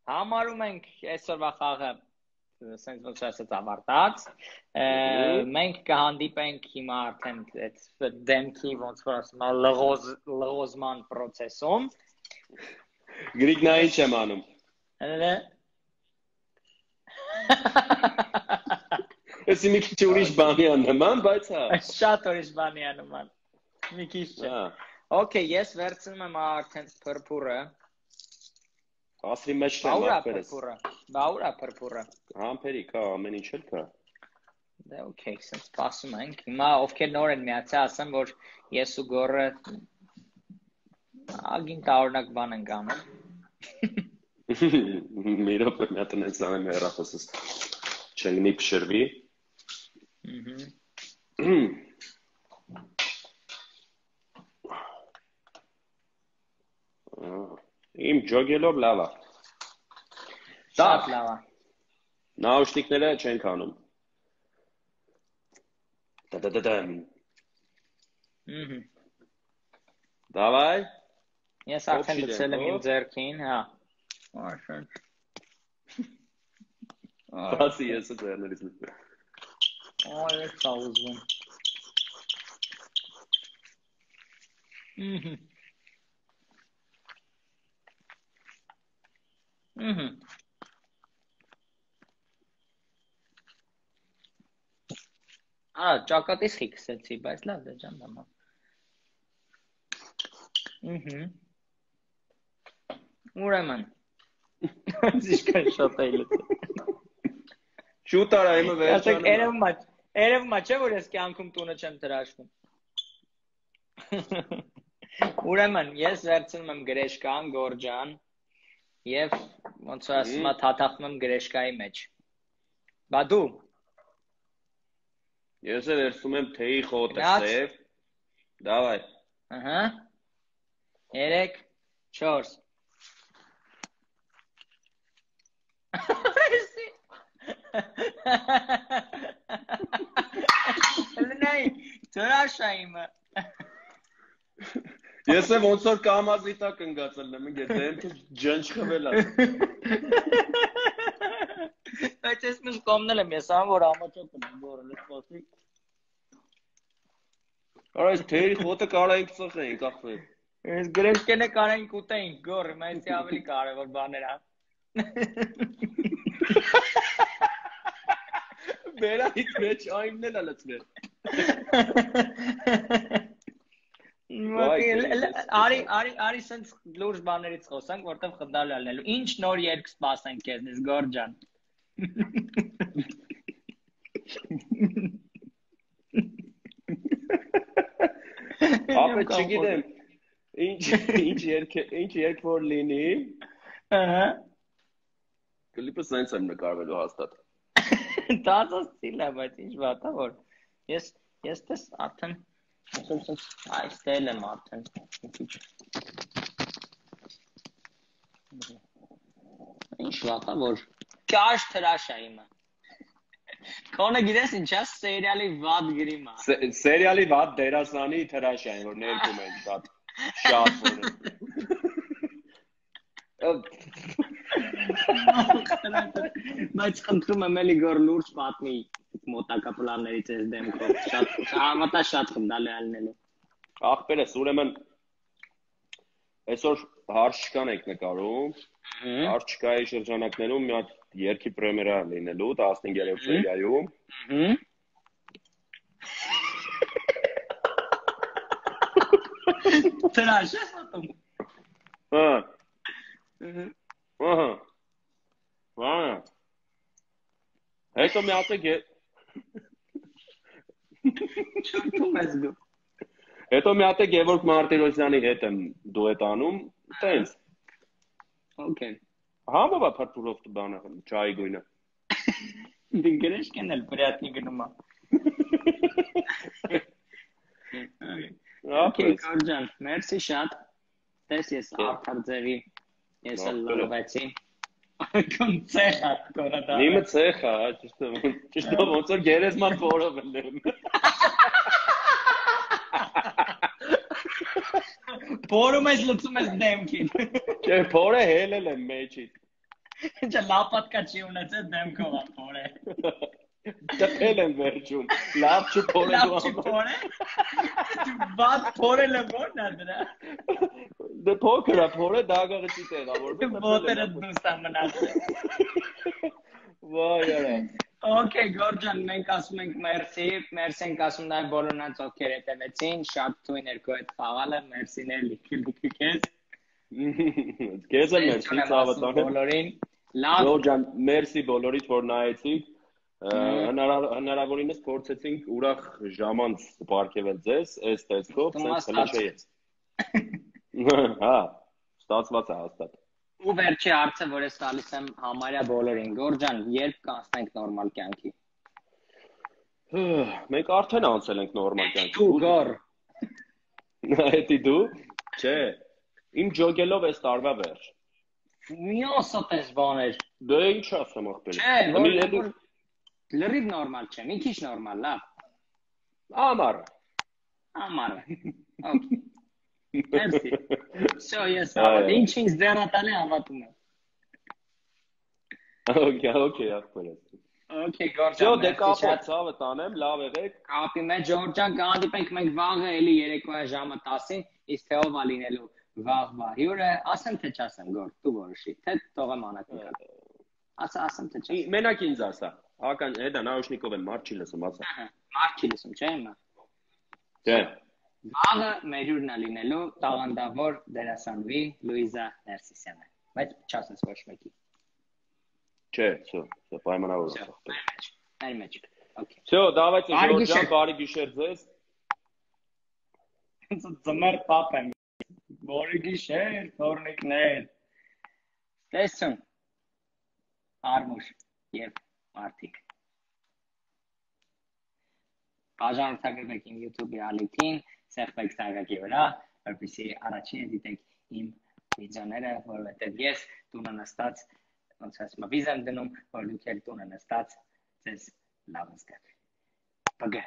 համարում ենք այսօրվա խաղը sense ոնց ասած ավարտած։ Մենք կհանդիպենք հիմա արդեն այդ դեմքի ոնց որ ասում եմ լղոզման process-ում։ Գրիգնային չեմ անում։ Էսի մի քիչ ուրիշ բանի աննման, բայց հա։ Շատ ուրիշ բանի աննման։ Մի քիչ չէ։ Okay, ես վերցնում եմ արդեն փրփուրը։ Ասրի մեջ չեմ ապերես։ Բաուրա փրփուրը։ Համբերիկ, հա, ամեն ինչ էլ կա։ Դե okay, sense սպասում ենք։ Հիմա ովքեր նոր են միացել, ասեմ, որ ես ու Գորը ագին տարօրինակ բան ենք անում։ Մի րոպե մի հատ այնց անեմ հեռախոսս չլինի փշրվի։ Իմ ջոգելով լավ է։ Շատ լավ է։ Նաուշնիկները չենք անում։ Տա-տա-տա-տամ։ Դավայ։ Ես արդեն լցել եմ իմ ձեռքին, հա։ Արշան։ Բացի ես ձեռներից լցել։ Այս սաուզում։ Ճակատից խիքսեցի, բայց լավ դե ջան դամա։ Ուրեմն։ Ինչքան շատ է լցել։ Շուտ արա իմը վերջանում։ Երևում չէ որ ես կյանքում տունը չեմ տրաշվում։ Ուրեմն ես վերցնում եմ գրեշկան, Գորջան, եւ ոնց ասում եմ թաթախում եմ գրեշկայի մեջ։ Բա դու։ Ես էլ վերցնում եմ թեյի խոտը սև։ Դավայ։ Ահա։ 3 4 Լնայ, ծրաշա իմը։ Ես եմ ոնց որ կամազի տակ ընկածել եմ, ինգե դեմքը ջնջխվել է։ Բայց ես միշտ կոմնել եմ, ես ամ որ ամաչոտ եմ գորը լսպասի։ Արա այս թեյի խոտը կարայինք ծխեինք ախվեր։ Ես գրեշկենը կարայինք ուտեինք գորը, մայցի ավելի կարևոր բաներ ա։ Բերայիք մեջ այնն էլ լցնել։ Արի սենց լուրջ բաներից խոսանք, որտև խնդալու ալնելու։ Ինչ նոր երգ սպասենք քեզնից, Գորջան։ Ապա չգիտեմ, ինչ երգ որ լինի։ Ահա։ Կլիպը սենց եմ նկարվելու հաստատ։ Դասս ցիլ է, բայց ինչ վատա որ։ Ես տես արդեն այստեղ եմ արդեն։ Ինչ վատա որ կաշ թրաշա իմը։ Քոնը գիտես ինչա սերիալի վատ գրիմա։ Սերիալի վատ դերասանի թրաշա են որ ներկում են շատ որ։ Բայց խնդրում եմ էլի գոր լուրջ պատմի մոտակա պլաններից ես դեմքով շատ համատա շատ խնդալի ալնելու ախպերս ուրեմն այսօր հարցկան եք նկարում հարցկայի շրջանակներում մի հատ երկի պրեմիերա լինելու 15-րդ սերիայում Տրաշ ես ատում հա Ահա Վայ Հետո մի հատ է Չորտում ես գո Հետո մի հատ է Գևորգ Մարտիրոսյանի հետ եմ դուետ անում, տենց։ Okay. Համովա փրփուրով բանը, ճայի գույնը։ Դինգերես կնել պրիատնի գնումա։ Okay, Գորջան, մերսի շատ։ Տես ես արդար ձևի, ես էլ լավացի։ Կոնցեխա կորադա։ Իմը ցեխա, ճիշտ ոնց որ գերեզման փորով եմ։ Փորում ես լցում ես դեմքին։ Չէ, փորը հելել եմ մեջից։ Ինչ լապատկա չի ունեցել դեմքով փորը։ Տպել եմ վերջում։ Լավ չփորը դու փորը։ Բաց փորելը ո՞րն է դրա։ Դե փոքր է, փորը դագաղը չի տեղավորվում։ Ոտերը դուստ է մնացել։ Վայ արա։ Okay, Գորջան, մենք ասում ենք մերսի, մերսի ենք ասում նաև բոլորնանց ովքեր հետևեցին, շատ թույն էր քո հետ խաղալը, մերսիներ լիքը քեզ։ Քեզ էլ մերսի ցավատան։ Բոլորին լավ։ Գորջան, մերսի բոլորիդ որ նայեցիք։ Հնարավորինս փորձեցինք ուրախ ժամանց պարգևել ձեզ, այս տեսքով, sense հլեշեից։ Հա, ստացված է հաստատ։ Ու վերջի հարցը, որ ես տալիս եմ համարյա բոլորին, Գորջան, երբ կանցնենք նորմալ կյանքի։ Մենք արդեն անցել ենք նորմալ կյանքի։ Դու գոր։ Հետի դու։ Չէ։ Իմ ջոգելով այս տարվա վերջ։ Միոսոպես բաներ։ Դե ինչ ասեմ ախպեր։ Չէ, լրիվ նորմալ չէ, մի քիչ նորմալ, լավ։ Ամառ։ Okay։ Merci։ Всё, ես հավատում, ինչ ինձ դեռատալի հավատում եմ։ Okay, ախպեր։ Okay, Գորջան։ Всё, դե կապը ցավը տանեմ, լավ եղեք։ Կապի մեջ Ջորջան կհանդիպենք մենք վաղը էլի երեկոյան ժամը 10-ին, իսկ թե ով է լինելու վաղվա հյուրը, ասեմ թե չասեմ, Գոր, դու որոշի, թե թողեմ անակնկալ։ Ասեմ թե չասեմ։ Մենակ ինձ ասա։ Ական, հետա նաուշնիկով եմ, մարդ չի լսում, ասա։ Մարդ չի լսում, չէ՞ հիմա։ Չէ։ Վաղը մեր հյուրն է լինելու տաղանդավոր դերասանուհի Լուիզա Ներսիսյանը, բայց չասես ոչ մեկի։ Չէ, всё, պայմանավոր։ Այլ մեջ։ Okay։ Всё, давайте, Ջորջան, բարի գիշեր ձեզ։ Ձմեռ պապ եմ։ Բարի գիշեր, թորնիկներ։ Տեսուն։ Արմուշ եւ մարդիկ։ Բաժանորդագրվեք իմ YouTube-ի ալիքին, սեղմեք սայրակի վրա, որպեսզի առաջինը դիտեք իմ վիդեոները, որովհետեւ ես տունը նստած, ոնց ասեմ, վիզ եմ դնում, որ դուք էլ տունը նստած ձեզ լավ զգաք։ Բգա